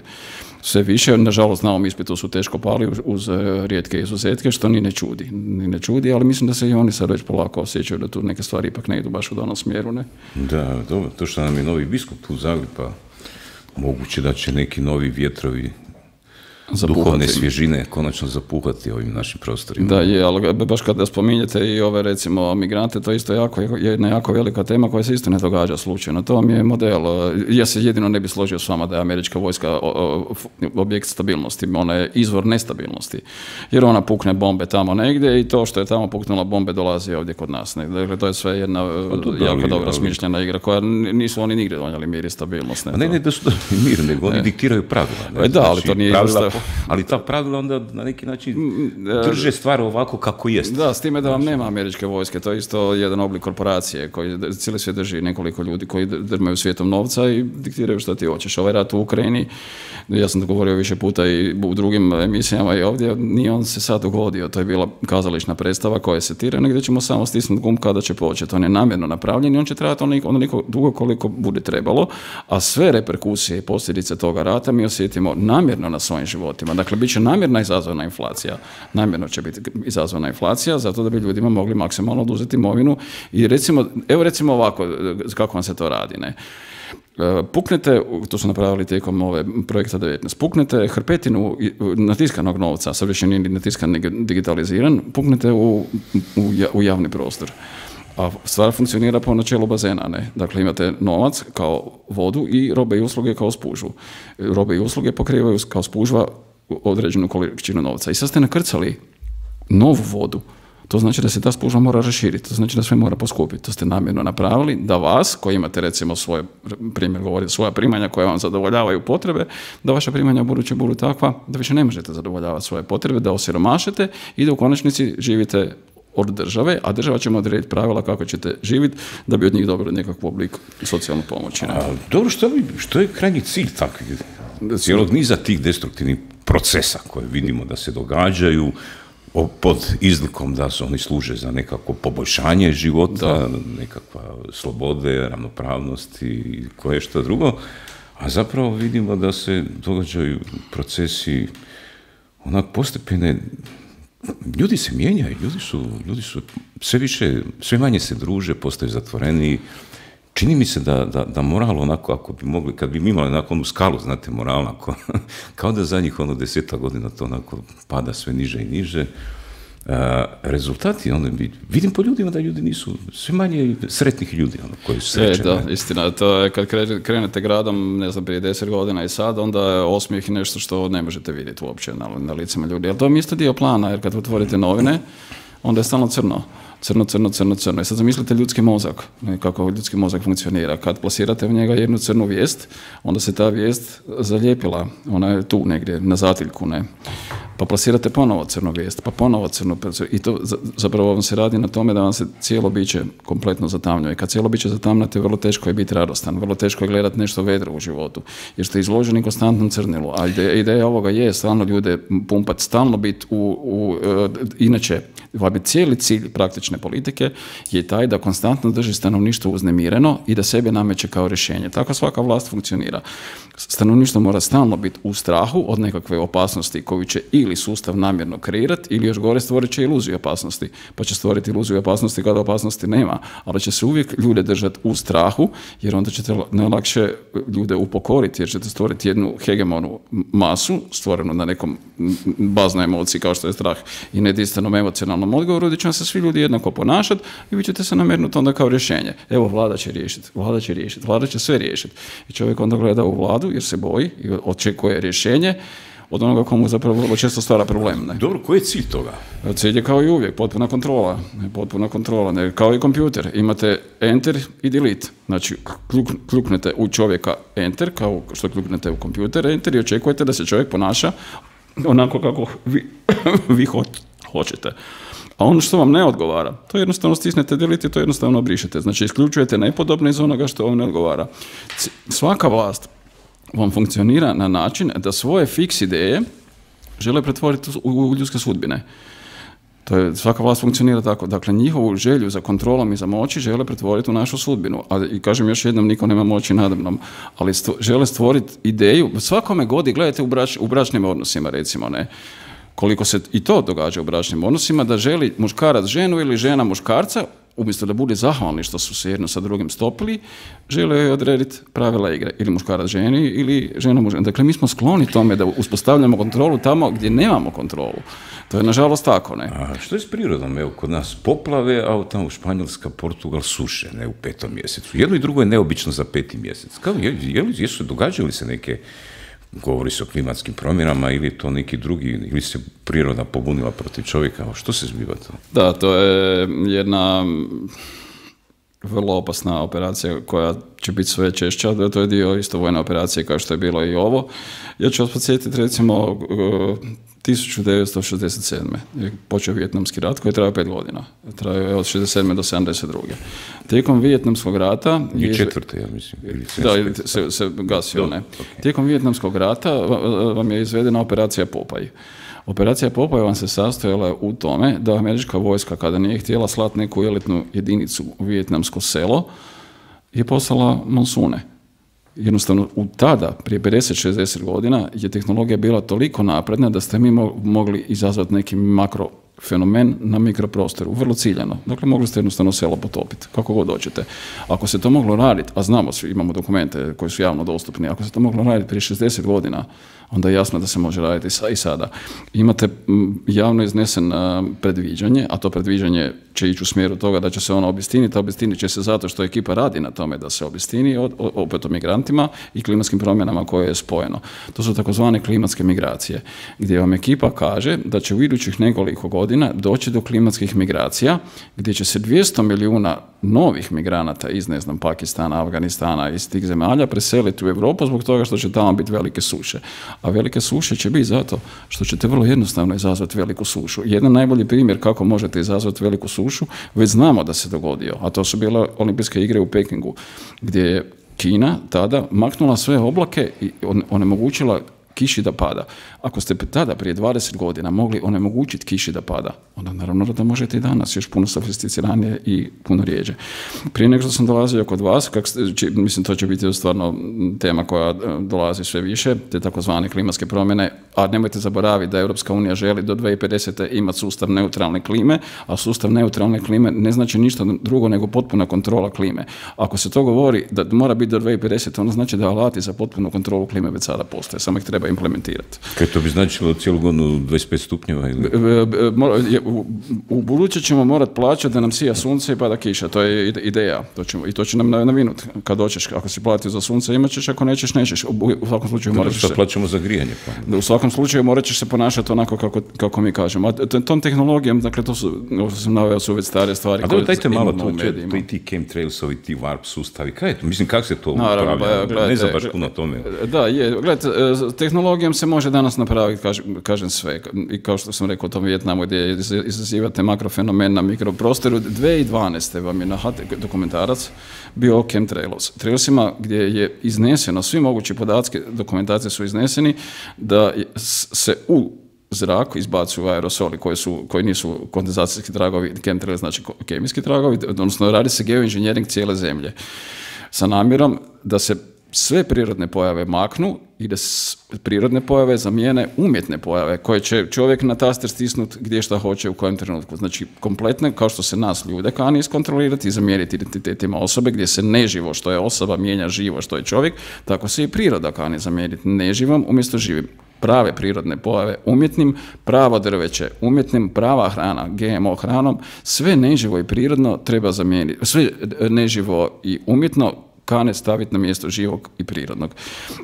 Speaker 2: sve više. Nažalost, na ovom ispitu su teško pali uz, uz rijetke izuzetke, što ni ne čudi. Ni ne čudi, ali mislim da se i oni sad već polako osjećaju da tu neke stvari ipak ne idu baš u danom smjeru, ne?
Speaker 1: Da, dobro. To što nam je novi biskup tu Zagreb, pa moguće da će neki novi vjetrovi zapuhati. Duhovne svježine konačno zapuhati ovim našim prostorima.
Speaker 2: Da, je, ali baš kada spominjete i ove, recimo, migrante, to isto jako, jedna jako velika tema koja se isto ne događa slučajno. To vam je model. Ja se jedino ne bi složio s vama da je američka vojska objekt stabilnosti. Ona je izvor nestabilnosti. Jer ona pukne bombe tamo negdje i to što je tamo puknula bombe dolazi ovdje kod nas. Dakle, to je sve jedna da, jako ali, dobra ali, smišljena igra koja nisu oni nigdje donijeli mir i stabilnost. Ne,
Speaker 1: ne, ne da su to mir, nego oni diktiraju pravila. Ne?
Speaker 2: Da, ali to nije pravila,
Speaker 1: ali ta pravila onda na neki način drže stvar ovako kako jest.
Speaker 2: Da, s time da vam nema američke vojske, to je isto jedan oblik korporacije koji cijeli svijet drži nekoliko ljudi koji drmaju svijetom novca i diktiraju što ti hoćeš. Ovaj rat u Ukrajini, ja sam to govorio više puta i u drugim emisijama i ovdje, nije on se sad dogodio, to je bila kazališna predstava koja se tira, gdje ćemo samo stisnuti gumb kada će početi. On je namjerno napravljen i on će trajati onoliko dugo koliko bude trebalo, a sve reperkusije i posljedice toga rata mi osjetimo namjerno na svojim životima. Dakle, bit će namjerna izazvana inflacija. Namjerno će biti izazvana inflacija, zato da bi ljudima mogli maksimalno oduzeti imovinu. I recimo, evo recimo ovako, kako vam se to radi, ne? Puknete, to su napravili tijekom ove projekta devetnaest, puknete hrpetinu natiskanog novca, sad više nije natiskan, digitaliziran, puknete u, u, u javni prostor. A stvar funkcionira po načelu bazena, ne? Dakle, imate novac kao vodu i robe i usluge kao spužvu. Robe i usluge pokrivaju kao spužva određenu količinu novca. I sad ste nakrcali novu vodu. To znači da se ta spužva mora raširiti, to znači da sve mora poskupiti. To ste namjerno napravili da vas, koji imate recimo svoje, primjer govorite, svoja primanja koja vam zadovoljavaju potrebe, da vaša primanja buduće budu takva da više ne možete zadovoljavati svoje potrebe, da osiromašete i da u konačnici živite od države, a država će odrediti pravila kako ćete živjeti da bi od njih dobili nekakvu oblik socijalnu pomoć.
Speaker 1: A, dobro, što, bi, što je krajnji cilj takvih cijelog niza tih destruktivnih procesa koje vidimo da se događaju pod izlikom da se oni služe za nekako poboljšanje života, da. Nekakva slobode, ravnopravnost i koje što drugo, a zapravo vidimo da se događaju procesi onak postepene. Ljudi se mijenjaju, ljudi su, ljudi su sve više, sve manje se druže, postaju zatvoreni. Čini mi se da, da, da moral onako, ako bi mogli, kad bi mi imali onako onu skalu, znate, moral, onako, kao da zadnjih ono deseta godina to onako pada sve niže i niže. Uh, rezultati, ono, vidim po ljudima da ljudi nisu, sve manje sretnih ljudi, ono, koji su srećeni.
Speaker 2: E, da, istina, to je kad krenete gradom, ne znam, prije deset godina i sad, onda je osmijeh nešto što ne možete vidjeti uopće na, na licima ljudi. Ali to je isto dio plana, jer kad otvorite novine, onda je stalno crno. Crno, crno, crno, crno. I sad zamislite ljudski mozak, kako ljudski mozak funkcionira. Kad plasirate u njega jednu crnu vijest, onda se ta vijest zalijepila. Ona je tu negdje, na zatiljku, ne. Pa plasirate ponovo crnu vijest, pa ponovo crnu. I to zapravo vam se radi na tome da vam se cijelo biće kompletno zatamljuje. Kad cijelo biće zatamnate, vrlo teško je biti radostan, vrlo teško je gledati nešto vedro u životu, jer ste izloženi konstantnom crnilu. A ideja, ideja ovoga je stalno ljude pumpati, stalno biti u, u uh, inače, bi cijeli cilj praktične politike je taj da konstantno drži stanovništvo uznemireno i da sebe nameće kao rješenje. Tako svaka vlast funkcionira. Stanovništvo mora stalno biti u strahu od nekakve opasnosti koju će ili cijeli sustav namjerno kreirati ili još gore stvorit će iluziju opasnosti. Pa će stvoriti iluziju opasnosti kada opasnosti nema, ali će se uvijek ljude držati u strahu, jer onda ćete najlakše ljude upokoriti, jer ćete stvoriti jednu hegemonu masu, stvorenu na nekom baznoj emociji kao što je strah i nedinstvenom emocionalnom odgovoru, gdje će vam se svi ljudi jednako ponašati i vi ćete se namernuti onda kao rješenje. Evo, vlada će riješiti, vlada će riješiti, vlada će sve riješiti. I čovjek onda gleda u vladu jer se boji i očekuje rješenje od onoga komu zapravo vrlo često stvara problem. Ne?
Speaker 1: Dobro, koji je cilj toga?
Speaker 2: Cilj je kao i uvijek, potpuna kontrola. Ne, potpuna kontrola, ne, kao i kompjuter. Imate enter i delete. Znači, kljuk, kljuknete u čovjeka enter, kao što kljuknete u kompjuter enter i očekujete da se čovjek ponaša onako kako vi, vi ho, hoćete. A ono što vam ne odgovara, to jednostavno stisnete delete i to jednostavno brišete. Znači, isključujete nepodobno iz onoga što vam ne odgovara. C- svaka vlast vam funkcionira na način da svoje fiks ideje žele pretvoriti u ljudske sudbine. To je, svaka vlast funkcionira tako. Dakle, njihovu želju za kontrolom i za moći žele pretvoriti u našu sudbinu. A, i kažem još jednom, niko nema moći nadamnom, ali stvo, žele stvoriti ideju. Svakome godi, gledajte u, brač, u bračnim odnosima, recimo, ne, koliko se i to događa u bračnim odnosima, da želi muškarac ženu ili žena muškarca, umjesto da bude zahvalni što su se jedno sa drugim stopili, žele joj odrediti pravila igre. Ili muškarac ženi, ili žena mužem. Dakle, mi smo skloni tome da uspostavljamo kontrolu tamo gdje nemamo kontrolu. To je, nažalost, tako, ne?
Speaker 1: A što je s prirodom? Evo, kod nas poplave, a tamo Španjolska, Portugal suše, ne, u petom mjesecu. Jedno i drugo je neobično za peti mjesec. Kao, je, je, jesu, događaju se neke, govori se o klimatskim promjenama, ili to neki drugi, ili se priroda pobunila protiv čovjeka? Što se zbiva to?
Speaker 2: Da, to je jedna vrlo opasna operacija koja će biti sve češća, to je dio isto vojne operacije kao što je bilo i ovo. Ja ću vas podsjetiti, recimo, tisuću devetsto šezdeset sedme je počeo Vijetnamski rat koji je trajao pet godina. Trajao je od šezdeset sedme do sedamdeset druge. Tijekom Vijetnamskog rata...
Speaker 1: I četvrte, ja mislim. Ili
Speaker 2: da, ili se, se gasio, ne. Okay. Tijekom Vijetnamskog rata vam je izvedena operacija Popaj. Operacija Popaj vam se sastojala u tome da američka vojska, kada nije htjela slati neku elitnu jedinicu u vijetnamsko selo, je poslala monsune. Jednostavno, u tada, prije pedeset šezdeset godina, je tehnologija bila toliko napredna da ste mi mogli izazvati neki makrofenomen na mikroprostoru, vrlo ciljano. Dakle, mogli ste jednostavno selo potopiti, kako god hoćete. Ako se to moglo raditi, a znamo svi, imamo dokumente koji su javno dostupni, ako se to moglo raditi prije šezdeset godina, onda je jasno da se može raditi i sada. Imate javno iznesen predviđanje, a to predviđanje će ići u smjeru toga da će se ono obistiniti, a obistinit će se zato što ekipa radi na tome da se obistini, opet o migrantima i klimatskim promjenama koje je spojeno. To su takozvane klimatske migracije, gdje vam ekipa kaže da će u idućih nekoliko godina doći do klimatskih migracija, gdje će se dvjesto milijuna novih migranata iz, ne znam, Pakistana, Afganistana, iz tih zemalja preseliti u Europu zbog toga što će tamo biti velike suše. A velike suše će biti zato što ćete vrlo jednostavno izazvati veliku sušu. Jedan najbolji primjer kako možete izazvati veliku sušu, već znamo da se dogodio, a to su bile olimpijske igre u Pekingu, gdje je Kina tada maknula sve oblake i onemogućila kiši da pada. Ako ste tada prije dvadeset godina mogli onemogućiti kiši da pada, onda naravno da možete i danas, još puno sofisticiranije i puno rijeđe. Prije nego što sam dolazio kod vas, kak, mislim to će biti stvarno tema koja dolazi sve više, te takozvane klimatske promjene, a nemojte zaboraviti da Europska unija želi do dvije tisuće pedesete imati sustav neutralne klime, a sustav neutralne klime ne znači ništa drugo nego potpuna kontrola klime. Ako se to govori da mora biti do dvije tisuće pedesete, ono znači da alati za potpunu kontrolu klime već sada postoje, samo ih treba implementirati.
Speaker 1: Kaj to bi značilo cijelu godinu dvadeset pet stupnjeva? Ili?
Speaker 2: U, u buduće ćemo morati plaćati da nam sija sunce i pada kiša, to je ideja. To ćemo, i to će nam navinuti kad doćeš. Ako si platio za sunce imat ćeš, ako nećeš, nećeš. U, u svakom slučaju morat ćeš se...
Speaker 1: plaćamo za grijanje. Pa.
Speaker 2: U svakom slučaju morat ćeš se ponašati onako kako, kako mi kažemo. A tom tehnologijom, dakle, to su, ovo što sam naveo, su već stare stvari.
Speaker 1: A dobro, dajte malo to, to i ti chemtrailsovi, ti warp sustavi, kaj je to? Mislim, kako se to
Speaker 2: Naravno,
Speaker 1: upravlja?
Speaker 2: Ba, gledajte,
Speaker 1: ne znam baš puno o tome.
Speaker 2: Da, je, gledajte, tehnologijom se može danas napraviti, kažem, kažem sve. I kao što sam rekao o tom Vijetnamu gdje izazivate makrofenomen na mikroprostoru, dvije tisuće dvanaeste vam je na H T dokumentarac bio o chemtrailsima gdje je izneseno, svi mogući podatke dokumentacije su izneseni da se u zrak izbacuju aerosoli koji, su, koji nisu kondenzacijski tragovi, chemtrail znači kemijski tragovi, odnosno radi se geoinženjering cijele zemlje sa namjerom da se sve prirodne pojave maknu i da prirodne pojave zamijene umjetne pojave koje će čovjek na taster stisnuti gdje šta hoće u kojem trenutku. Znači, kompletno, kao što se nas ljude kani iskontrolirati i zamijeniti identitetima osobe, gdje se neživo što je osoba mijenja živo što je čovjek, tako se i priroda kani zamijeniti neživom umjesto živim. Prave prirodne pojave umjetnim, pravo drveće umjetnim, prava hrana G M O hranom, sve neživo i prirodno treba zamijeniti, sve neživo i umjetno kane staviti na mjesto živog i prirodnog.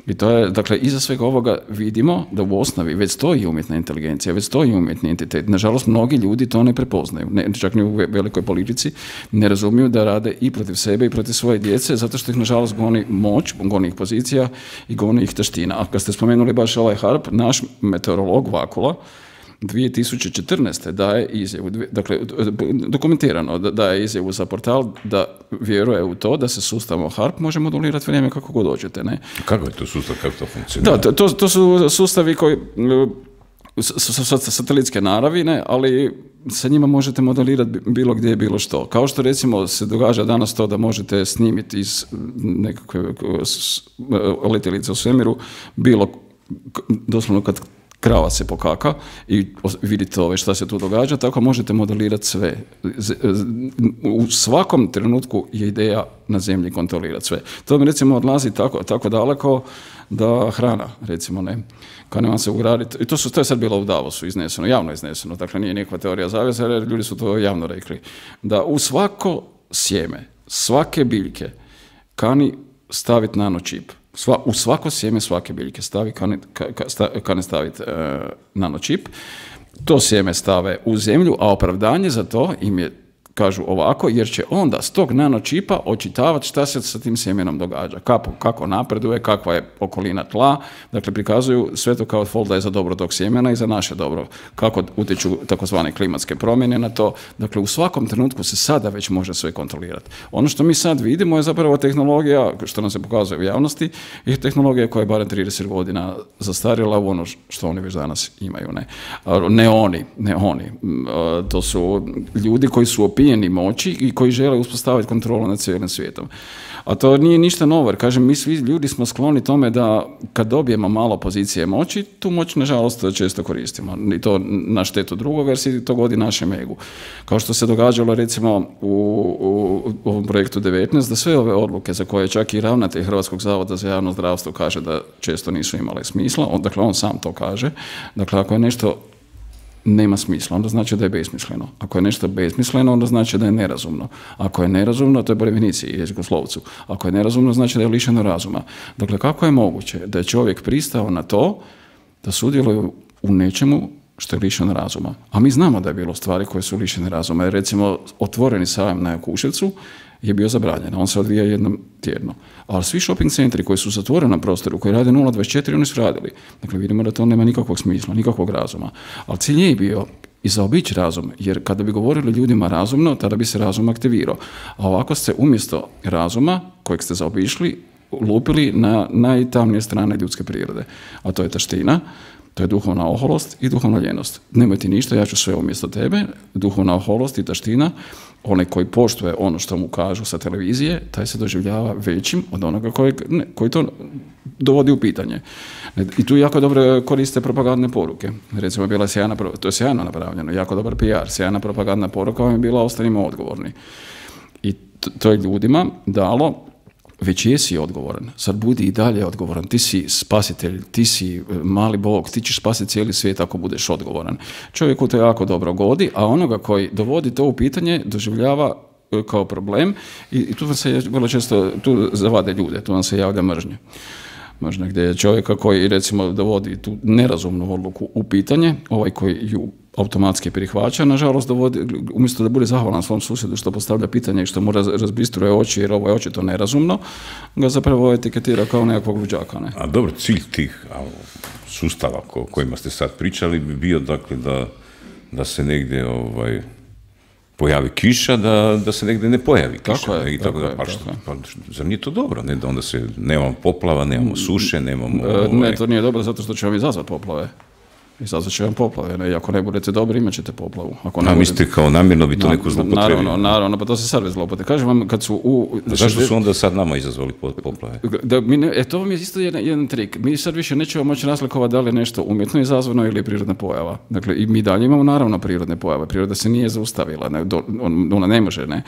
Speaker 2: I to je, dakle, iza svega ovoga vidimo da u osnovi već stoji umjetna inteligencija, već stoji umjetni entitet. Nažalost, mnogi ljudi to ne prepoznaju. Ne, čak ni u velikoj politici ne razumiju da rade i protiv sebe i protiv svoje djece, zato što ih, nažalost, goni moć, goni ih pozicija i goni ih taština. A kad ste spomenuli baš ovaj harp, naš meteorolog Vakula dvije tisuće četrnaeste daje izjavu, dakle, dokumentirano daje izjavu za portal da vjeruje u to da se sustavom harp može modulirati vrijeme kako god hoćete, ne?
Speaker 1: Kako je to sustav, kako to funkcionira?
Speaker 2: Da, to, to su sustavi koji su satelitske naravi, ne, ali sa njima možete modelirati bilo gdje, bilo što. Kao što, recimo, se događa danas to da možete snimiti iz nekakve letjelice u svemiru bilo, doslovno kad krava se pokaka i vidite ove šta se tu događa, tako možete modelirati sve. U svakom trenutku je ideja na zemlji kontrolirati sve. To mi, recimo, odlazi tako, tako daleko da hrana, recimo, ne, kao nema se ugraditi, i to, su, to je sad bilo u Davosu izneseno, javno izneseno, dakle nije nikakva teorija zavjesa, jer ljudi su to javno rekli, da u svako sjeme, svake biljke kani staviti nanočip. Sva, u svako sjeme svake biljke stavi, kane, kane staviti e, nanočip. To sjeme stave u zemlju, a opravdanje za to im je, kažu ovako, jer će onda s tog nanočipa očitavati šta se sa tim sjemenom događa, kako, kako napreduje, kakva je okolina tla, dakle prikazuju sve to kao fol da je za dobro tog sjemena i za naše dobro, kako utječu takozvane klimatske promjene na to, dakle u svakom trenutku se sada već može sve kontrolirati. Ono što mi sad vidimo je zapravo tehnologija, što nam se pokazuje u javnosti, je tehnologija koja je barem trideset godina zastarjela u ono što oni već danas imaju, ne, ne oni, ne oni, to su ljudi koji su opijeni moći i koji žele uspostaviti kontrolu nad cijelim svijetom. A to nije ništa novo, jer kažem, mi svi ljudi smo skloni tome da kad dobijemo malo pozicije moći, tu moć, nažalost, često koristimo. I to na štetu drugoga, jer se to godi našem egu. Kao što se događalo, recimo, u, u, u ovom projektu devetnaest, da sve ove odluke za koje čak i ravnatelj Hrvatskog zavoda za javno zdravstvo kaže da često nisu imale smisla, on, dakle, on sam to kaže. Dakle, ako je nešto nema smisla, onda znači da je besmisleno. Ako je nešto besmisleno, onda znači da je nerazumno. Ako je nerazumno, to je po definiciji jezikoslovcu. Ako je nerazumno, znači da je lišeno razuma. Dakle, kako je moguće da je čovjek pristao na to da sudjeluje u nečemu što je lišeno razuma? A mi znamo da je bilo stvari koje su lišene razuma. Jer, recimo, otvoreni sajam na Jakuševcu je bio zabranjen. On se odvija jednom tjedno. Ali svi shopping centri koji su zatvoreni na prostoru, koji rade nula dvadeset četiri, oni su radili. Dakle, vidimo da to nema nikakvog smisla, nikakvog razuma. Ali cilj je bio i zaobići razum, jer kada bi govorili ljudima razumno, tada bi se razum aktivirao. A ovako ste umjesto razuma, kojeg ste zaobišli, lupili na najtamnije strane ljudske prirode. A to je taština, to je duhovna oholost i duhovna ljenost. Nemoj ti ništa, ja ću sve umjesto tebe. Duhovna oholost i taština, onaj koji poštuje ono što mu kažu sa televizije, taj se doživljava većim od onoga koji, ne, koji to dovodi u pitanje. I tu jako dobro koriste propagandne poruke. Recimo, bila sjajna, to je sjajno napravljeno, jako dobar P R, sjajna propagandna poruka vam je bila ostanimo odgovorni. I to, to je ljudima dalo, već jesi odgovoran, sad budi i dalje odgovoran, ti si spasitelj, ti si mali Bog, ti ćeš spasiti cijeli svijet ako budeš odgovoran. Čovjeku to jako dobro godi, a onoga koji dovodi to u pitanje doživljava kao problem i, i tu vam se vrlo često, tu zavade ljude, tu vam se javlja mržnje. Možda gdje je čovjeka koji, recimo, dovodi tu nerazumnu odluku u pitanje, ovaj koji ju automatski prihvaća, nažalost, dovodi, umjesto da bude zahvalan svom susjedu što postavlja pitanje i što mu raz, razbistruje oči, jer ovo je očito nerazumno, ga zapravo etiketira kao nekakvog luđaka. Ne?
Speaker 1: A dobro, cilj tih a, sustava o kojima ste sad pričali bi bio, dakle, da, da se negdje ovaj, pojavi kiša, da, da se negdje ne pojavi kiša.
Speaker 2: Tako je,
Speaker 1: i tako
Speaker 2: tako
Speaker 1: da,
Speaker 2: je,
Speaker 1: pa,
Speaker 2: tako
Speaker 1: što,
Speaker 2: je.
Speaker 1: pa zar nije to dobro? Ne? Da onda se nemamo poplava, nemamo suše, nemamo...
Speaker 2: E,
Speaker 1: ovaj...
Speaker 2: Ne, to nije dobro zato što će vam izazvati poplave. Izazvat će vam poplave, ne? I ako ne budete dobri, imat ćete poplavu. Ako ne
Speaker 1: A
Speaker 2: budete...
Speaker 1: mislite kao namjerno bi to neko zloupotrebio?
Speaker 2: Naravno, naravno, pa to se sad već zloupotrebio. Kažem vam, kad su u...
Speaker 1: A zašto su onda sad nama izazvali poplave?
Speaker 2: Da, mi ne, e, to vam je isto jedan, jedan trik. Mi sad više nećemo moći razlikovati da li je nešto umjetno izazvano ili je prirodna pojava. Dakle, i mi dalje imamo naravno prirodne pojave. Priroda se nije zaustavila, ne, do, on, ona ne može, ne.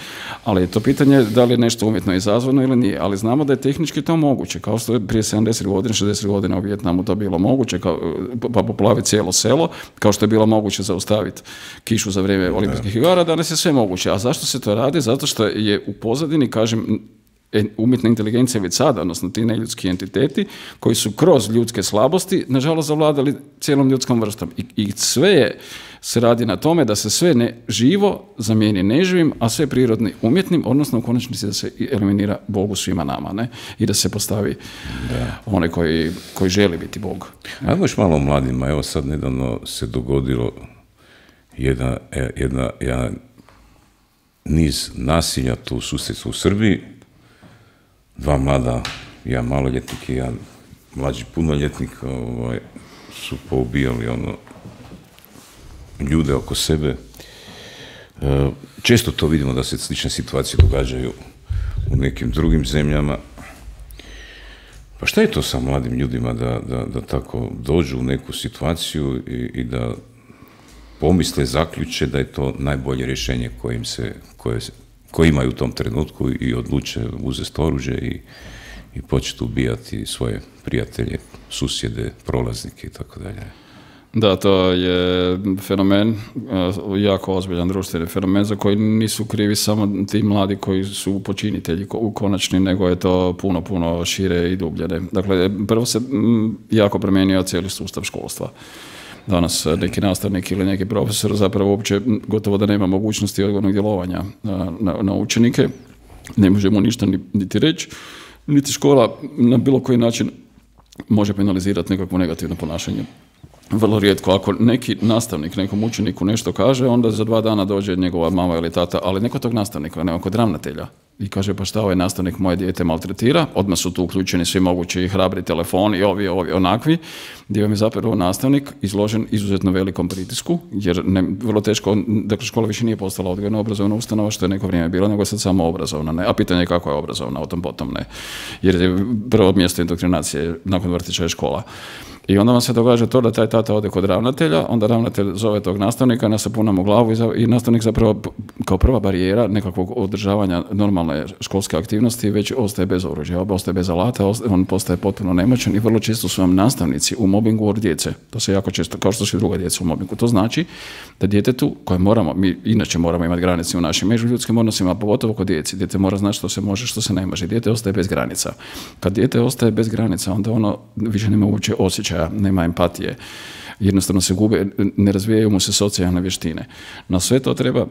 Speaker 2: Ali je to pitanje da li je nešto umjetno izazvano ili nije. Ali znamo da je tehnički to moguće. Kao što je prije sedamdeset godina, šezdeset godina u Vijetnamu to bilo moguće, kao, pa poplaviti cijelo selo, kao što je bilo moguće zaustaviti kišu za vrijeme olimpijskih igara, danas je sve moguće. A zašto se to radi? Zato što je u pozadini, kažem, umjetna inteligencija već sada, odnosno ti neljudski entiteti koji su kroz ljudske slabosti, nažalost, zavladali cijelom ljudskom vrstom. I, i sve je, se radi na tome da se sve ne živo zamijeni neživim, a sve prirodni umjetnim, odnosno u konačnici da se eliminira Bogu svima nama, ne? I da se postavi da. onaj koji, koji želi biti Bog.
Speaker 1: Ajmo još malo o mladima. Evo sad nedavno se dogodilo jedna, jedna, jedna niz nasilja tu u susjedstvu u Srbiji. Dva mlada, jedan maloljetnik i jedan mlađi punoljetnik ovaj, su poubijali ono, ljude oko sebe. E, često to vidimo da se slične situacije događaju u nekim drugim zemljama. Pa šta je to sa mladim ljudima da, da, da tako dođu u neku situaciju i, i da pomisle, zaključe da je to najbolje rješenje kojim se, koje se koji imaju u tom trenutku i odluče uzeti oružje i, i početi ubijati svoje prijatelje, susjede, prolaznike i tako dalje.
Speaker 2: Da, to je fenomen, jako ozbiljan društveni fenomen za koji nisu krivi samo ti mladi koji su počinitelji u konačni, nego je to puno, puno šire i dublje. Dakle, prvo se jako promijenio cijeli sustav školstva. Danas neki nastavnik ili neki profesor zapravo uopće gotovo da nema mogućnosti odgovornog djelovanja na, na, na učenike. Ne može mu ništa niti reći, niti škola na bilo koji način može penalizirati nekakvo negativno ponašanje. Vrlo rijetko, ako neki nastavnik nekom učeniku nešto kaže, onda za dva dana dođe njegova mama ili tata, ali neko tog nastavnika, neko kod ravnatelja. I kaže, pa šta ovaj nastavnik moje dijete maltretira, odmah su tu uključeni svi mogući hrabri telefoni, ovi, ovi, onakvi, gdje vam je zapravo nastavnik izložen izuzetno velikom pritisku, jer ne, vrlo teško, dakle škola više nije postala odgojno obrazovna ustanova, što je neko vrijeme bilo, nego je sad samo obrazovna, ne? A pitanje je kako je obrazovna, o tom potom ne, jer je prvo mjesto indoktrinacije nakon vrtića je škola. I onda vam se događa to da taj tata ode kod ravnatelja, onda ravnatelj zove tog nastavnika, nasapuna mu glavu i, za, i nastavnik zapravo kao prva barijera nekakvog održavanja normalne školske aktivnosti već ostaje bez oružja, ostaje bez alata, on postaje potpuno nemoćan i vrlo često su vam nastavnici u mobingu od djece. To se jako često, kao što su i druga djeca u mobingu. To znači da djetetu koje moramo, mi inače moramo imati granice u našim međuljudskim odnosima, pogotovo kod djeci. Dijete mora znati što se može, što se ne može. Dijete ostaje bez granica. Kad dijete ostaje bez granica, onda ono više nema uopće osjećaja, nema empatije. Jednostavno se gube, ne razvijaju mu se socijalne vještine. Na sve to treba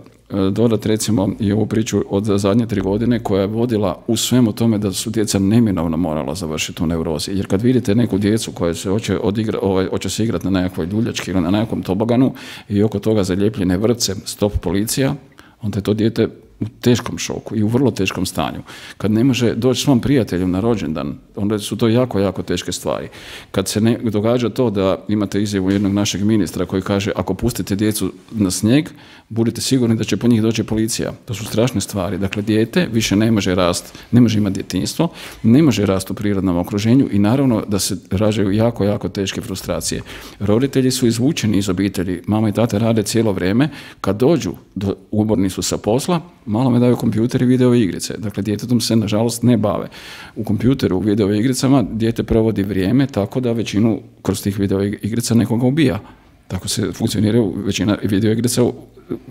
Speaker 2: dodati recimo i ovu priču od zadnje tri godine koja je vodila u svemu tome da su djeca neminovno morala završiti u neurozi. Jer kad vidite neku djecu koja se hoće, odigra, ovaj, hoće se igrati na nekakvoj ljuljački ili na nekakvom toboganu i oko toga zalijepljene vrpce, stop policija, onda je to dijete u teškom šoku i u vrlo teškom stanju. Kad ne može doći svom prijatelju na rođendan, onda su to jako, jako teške stvari. Kad se ne događa to da imate izjavu jednog našeg ministra koji kaže ako pustite djecu na snijeg, budite sigurni da će po njih doći policija. To su strašne stvari. Dakle, dijete više ne može rast, ne može imati djetinjstvo, ne može rast u prirodnom okruženju i naravno da se rađaju jako, jako teške frustracije. Roditelji su izvučeni iz obitelji, mama i tata rade cijelo vrijeme, kad dođu, do, umorni su sa posla, malo me daju kompjuter i video igrice. Dakle, djetetom se, nažalost, ne bave. U kompjuteru, u video igricama, dijete provodi vrijeme tako da većinu kroz tih video igrica nekoga ubija. Tako se funkcionira, većina video igrica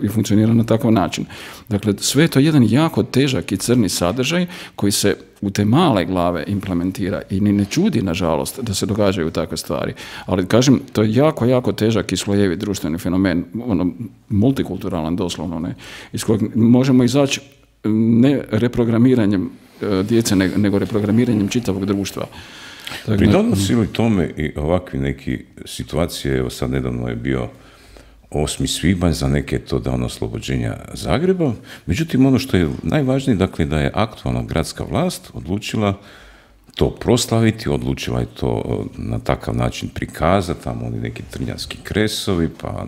Speaker 2: i funkcionira na takav način. Dakle, sve je to jedan jako težak i crni sadržaj koji se u te male glave implementira i ni ne čudi, nažalost, da se događaju takve stvari. Ali, kažem, to je jako, jako težak i slojevi društveni fenomen, ono, multikulturalan doslovno, ne, iz kojeg možemo izaći ne reprogramiranjem djece, nego reprogramiranjem čitavog društva.
Speaker 1: Pridonosi li tome i ovakvi neki situacije, evo sad nedavno je bio osmi svibanj, za neke je to dan oslobođenja Zagreba, međutim ono što je najvažnije, dakle da je aktualna gradska vlast odlučila to proslaviti, odlučila je to na takav način prikazati, tamo oni neki trnjanski kresovi, pa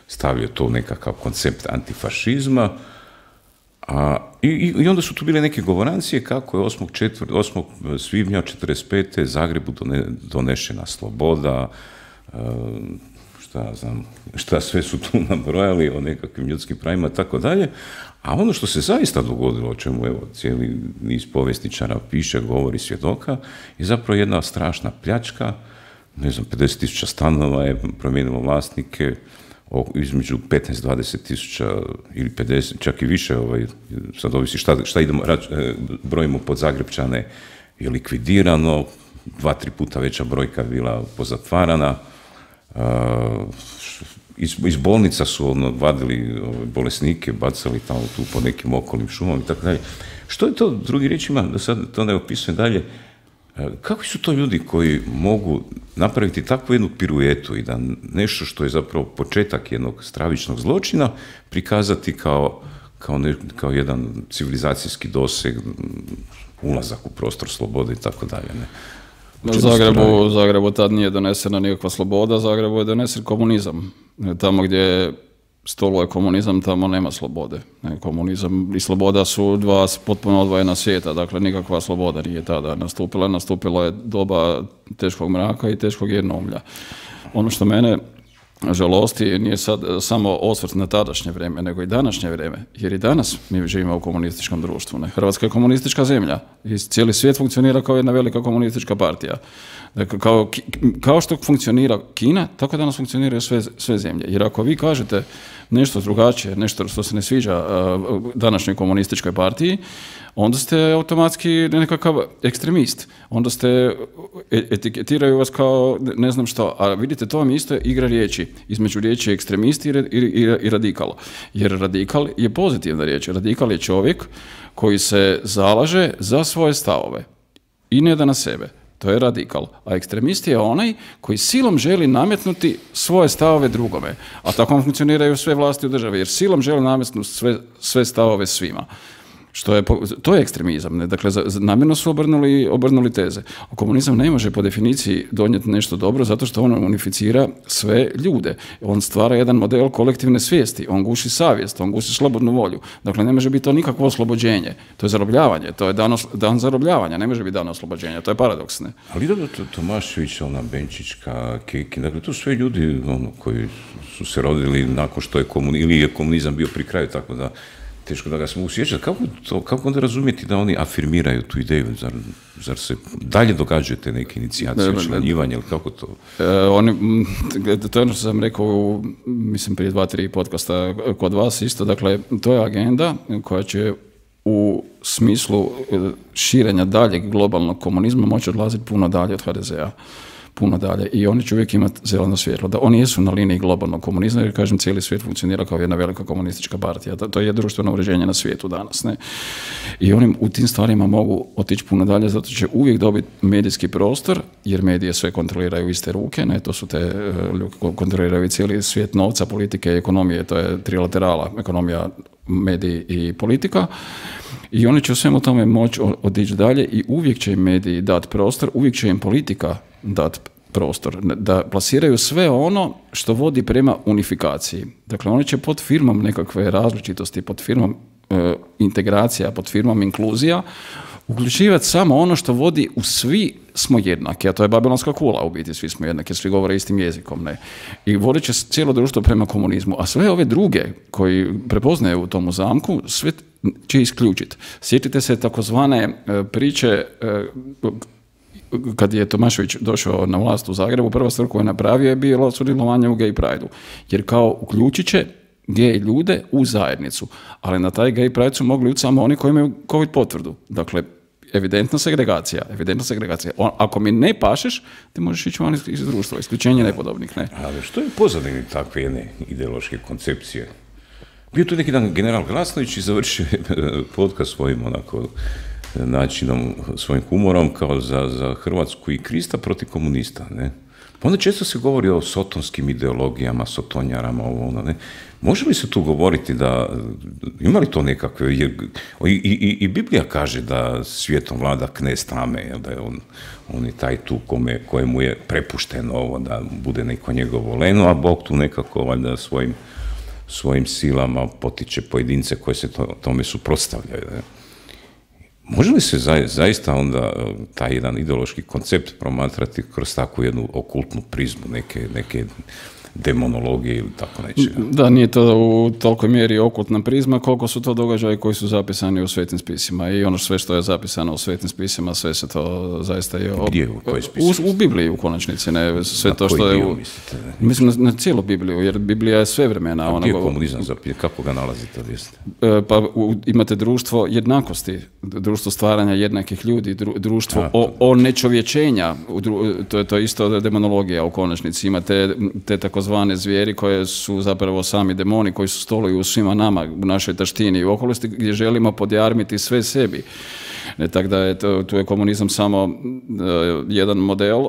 Speaker 1: stavio to u nekakav koncept antifašizma. A, i, i onda su tu bile neke govorancije kako je osmog svibnja četrdeset pete Zagrebu done, donešena sloboda, šta znam, šta sve su tu nabrojali o nekakvim ljudskim pravima i tako dalje. A ono što se zaista dogodilo, o čemu evo cijeli niz povjesničara piše, govori, svjedoka, je zapravo jedna strašna pljačka. Ne znam, pedeset tisuća stanova je promijenilo vlasnike, između petnaest do dvadeset tisuća ili pedeset, čak i više, ovaj, sad ovisi šta, šta idemo, rač, brojimo pod Zagrebčane, je likvidirano, dva, tri puta veća brojka bila pozatvarana. Uh, iz, iz bolnica su ono, vadili ove, bolesnike, bacali tamo tu po nekim okolnim šumama i tako dalje. Što je to, drugi riječima, da sad to ne opisujem dalje, kakvi su to ljudi koji mogu napraviti takvu jednu piruetu i da nešto što je zapravo početak jednog stravičnog zločina prikazati kao, kao, ne, kao jedan civilizacijski doseg, ulazak u prostor slobode i tako dalje, ne?
Speaker 2: U Zagrebu, u Zagrebu tad nije donesena nikakva sloboda, Zagrebu je donesen komunizam. Tamo gdje stoluje komunizam, tamo nema slobode. Komunizam i sloboda su dva potpuno odvojena svijeta, dakle nikakva sloboda nije tada nastupila. Nastupilo je doba teškog mraka i teškog jednoumlja. Ono što mene žalosti nije sad samo osvrt na tadašnje vrijeme, nego i današnje vrijeme. Jer i danas mi živimo u komunističkom društvu. Ne? Hrvatska je komunistička zemlja i cijeli svijet funkcionira kao jedna velika komunistička partija. Dakle, kao, kao što funkcionira Kina, tako danas funkcioniraju sve, sve zemlje. Jer ako vi kažete nešto drugačije, nešto što se ne sviđa uh, današnjoj komunističkoj partiji, onda ste automatski nekakav ekstremist. Onda ste, etiketiraju vas kao ne znam što. A vidite, to vam isto je igra riječi. Između riječi ekstremist i, i, i, i radikal. Jer radikal je pozitivna riječ. Radikal je čovjek koji se zalaže za svoje stavove i ne da na sebe. To je radikal. A ekstremist je onaj koji silom želi nametnuti svoje stavove drugome. A tako funkcioniraju sve vlasti u državi, jer silom želi nametnuti sve, sve stavove svima. Što je, to je ekstremizam. Ne? Dakle, namjerno su obrnuli, obrnuli teze. A komunizam ne može po definiciji donijeti nešto dobro zato što on unificira sve ljude. On stvara jedan model kolektivne svijesti. On guši savjest, on guši slobodnu volju. Dakle, ne može biti to nikakvo oslobođenje. To je zarobljavanje. To je dan, dan zarobljavanja. Ne može biti dan oslobođenja. To je paradoks. Ne?
Speaker 1: Ali dobro, Tomašević, ona Benčićka, Kekin, dakle, to sve ljudi ono, koji su se rodili nakon što je komunizam, ili je komunizam bio pri kraju, tako da teško da ga se mogu sjećati. Kako, to, kako onda razumjeti da oni afirmiraju tu ideju? Zar, zar se dalje događaju te neke inicijacije, članjivanje, ili kako to?
Speaker 2: E, oni, to je ono što sam rekao, mislim, prije dva, tri podcasta kod vas isto. Dakle, to je agenda koja će u smislu širenja daljeg globalnog komunizma moći odlaziti puno dalje od ha de ze a. Puno dalje. I oni će uvijek imati zeleno svjetlo. Da oni jesu na liniji globalnog komunizma, jer kažem, cijeli svijet funkcionira kao jedna velika komunistička partija. To je društveno uređenje na svijetu danas. Ne? I oni u tim stvarima mogu otići puno dalje, zato će uvijek dobiti medijski prostor, jer medije sve kontroliraju iste ruke. Ne? To su te ljudi koji kontroliraju cijeli svijet novca, politike i ekonomije. To je trilaterala, ekonomija, mediji i politika. I oni će u svemu tome moći otići dalje i uvijek će im mediji dati prostor, uvijek će im politika dati prostor, da plasiraju sve ono što vodi prema unifikaciji. Dakle, oni će pod firmom nekakve različitosti, pod firmom e, integracija, pod firmom inkluzija, uključivati samo ono što vodi u svi smo jednaki, a to je babilonska kula, u biti svi smo jednaki, svi govore istim jezikom, ne. I vodit će cijelo društvo prema komunizmu, a sve ove druge koji prepoznaju u tomu zamku, sve će isključiti. Sjetite se takozvane priče kad je Tomašević došao na vlast u Zagrebu, prva stvar koju je napravio je bilo sudjelovanje u gay pride-u. Jer kao uključit će gay ljude u zajednicu. Ali na taj gay pride su mogli ući samo oni koji imaju COVID potvrdu. Dakle, evidentna segregacija. Evidentna segregacija. On, ako mi ne pašeš, ti možeš ići van iz društva. Isključenje nepodobnih. Ne.
Speaker 1: Ali što je pozadini takve jedne ideološke koncepcije? Bio tu neki dan general Glasnović i završio podcast svojim onako načinom, svojim humorom kao za, za Hrvatsku i Krista protiv komunista, ne? Pa onda često se govori o sotonskim ideologijama, sotonjarama, ovo ono, ne. Može li se tu govoriti da, ima li to nekakve, jer, i, i, i Biblija kaže da svijetom vlada knez tame, jel, da je on, on je taj tu kome, kojemu je prepušteno ovo, da bude neko njegovo leno, a Bog tu nekako valjda svojim, svojim silama potiče pojedince koji se to, tome suprotstavljaju. Ne. Može li se za, zaista onda taj jedan ideološki koncept promatrati kroz takvu jednu okultnu prizmu neke, neke demonologije ili tako nečega?
Speaker 2: Da, nije to u tolikoj mjeri okultna prizma koliko su to događaji koji su zapisani u svetim spisima i ono sve što je zapisano u svetim spisima, sve se to zaista je...
Speaker 1: Gdje, u kojoj
Speaker 2: u, u Bibliji u konačnici, ne sve na to što je... U, mislite, mislim na, na cijelu Bibliju, jer Biblija je svevremena.
Speaker 1: A gdje je komunizam zapije? Kako ga nalazite?
Speaker 2: Pa u, imate društvo jednakosti, društvo stvaranja jednakih ljudi, dru, društvo A, o, onečovječenja, to je to isto demonologija u konačnici. Imate te takozvane zvijeri koje su zapravo sami demoni koji su stoluju u svima nama, u našoj taštini i okolisti gdje želimo podjarmiti sve sebi. Ne, tako da je to, tu je komunizam samo uh, jedan model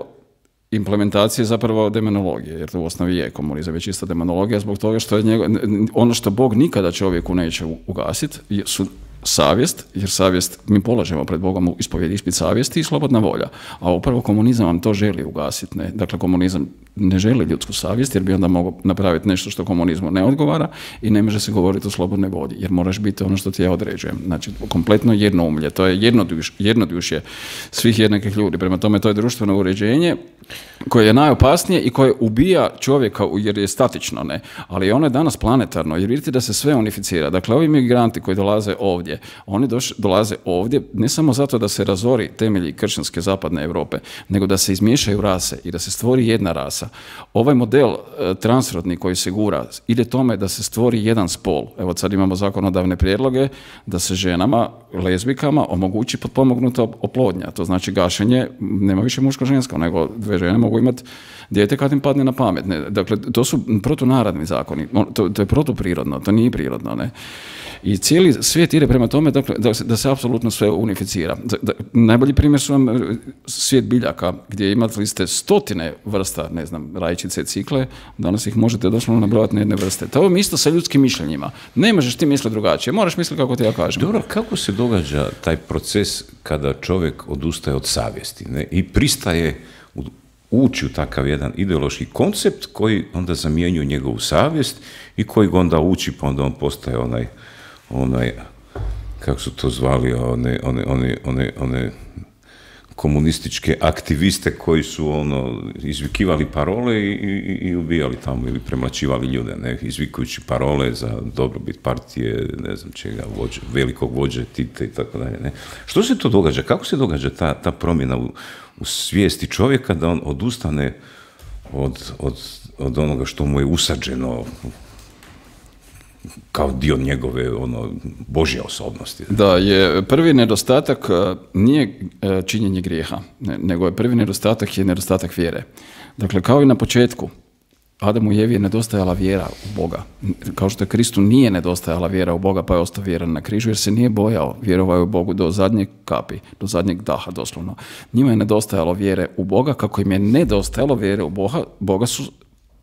Speaker 2: implementacije zapravo demonologije, jer to u osnovi je komunizam, je čista demonologija zbog toga što je njego, ono što Bog nikada čovjeku neće ugasiti su savjest, jer savjest mi polažemo pred Bogom u ispovjedi ispit savjesti i slobodna volja. A upravo komunizam vam to želi ugasiti. Ne? Dakle, komunizam ne želi ljudsku savjest, jer bi onda mogao napraviti nešto što komunizmu ne odgovara i ne može se govoriti o slobodnoj volji, jer moraš biti ono što ti ja određujem. Znači, kompletno jednoumlje. To je jednoduš, jednodušje svih jednakih ljudi. Prema tome, to je društveno uređenje koje je najopasnije i koje ubija čovjeka jer je statično, ne. Ali ono je danas planetarno, jer vidite da se sve unificira. Dakle, ovi migranti koji dolaze ovdje, oni doš, dolaze ovdje ne samo zato da se razori temelji kršćanske zapadne Europe, nego da se izmiješaju rase i da se stvori jedna rasa. Ovaj model e, transrodni koji se gura ide tome da se stvori jedan spol. Evo sad imamo zakonodavne prijedloge da se ženama, lezbikama omogući potpomognuta oplodnja. To znači gašenje, nema više muško-žensko, nego dve žene mogu imati dijete kad im padne na pamet. Ne? Dakle, to su protunarodni zakoni. To, to je protuprirodno, to nije prirodno. Ne? I cijeli svijet ide prema tome dakle, da, se, da se apsolutno sve unificira. Da, da, najbolji primjer su vam svijet biljaka, gdje imate liste stotine vrsta, ne znam, rajčice, cikle, danas ih možete doslovno nabrojati na jedne vrste. To je isto sa ljudskim mišljenjima. Ne možeš ti misliti drugačije, moraš misliti kako ti ja kažem.
Speaker 1: Dobro, kako se događa taj proces kada čovjek odustaje od savjesti, ne? I pristaje u ući u takav jedan ideološki koncept koji onda zamjenjuje njegovu savjest i koji ga onda uči, pa onda on postaje onaj, onaj kako su to zvali, one, one, one, one, one komunističke aktiviste koji su ono, izvikivali parole i, i, i ubijali tamo ili premlaćivali ljude, ne, izvikujući parole za dobrobit partije, ne znam čega, vođe, velikog vođe Tita i tako dalje. Ne. Što se to događa? Kako se događa ta, ta promjena u, u svijesti čovjeka da on odustane od, od, od onoga što mu je usađeno kao dio njegove ono, Božje osobnosti?
Speaker 2: Da, je prvi nedostatak nije činjenje grijeha, nego je prvi nedostatak je nedostatak vjere. Dakle, kao i na početku, Adamu i Evi je nedostajala vjera u Boga. Kao što je Kristu nije nedostajala vjera u Boga, pa je ostao vjeran na križu, jer se nije bojao, vjerovao je u Bogu do zadnje kapi, do zadnjeg daha doslovno. Njima je nedostajalo vjere u Boga, kako im je nedostajalo vjere u Boga, Boga su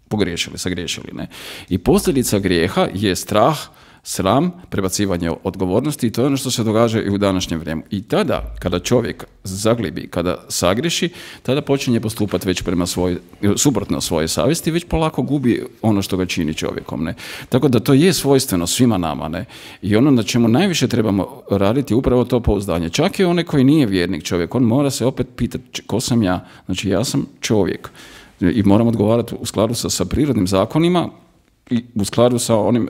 Speaker 2: pogriješili, sagriješili. Ne? I posljedica grijeha je strah, sram, prebacivanje odgovornosti i to je ono što se događa i u današnjem vremenu. I tada, kada čovjek zaglibi, kada sagriješi, tada počinje postupati već prema svoj, suprotno svoje savjesti, već polako gubi ono što ga čini čovjekom. Ne? Tako da to je svojstveno svima nama. Ne? I ono na čemu najviše trebamo raditi je upravo to pouzdanje. Čak i onaj koji nije vjernik čovjek, on mora se opet pitati ko sam ja. Znači ja sam čovjek. I moram odgovarati u skladu sa, sa prirodnim zakonima i u skladu sa onim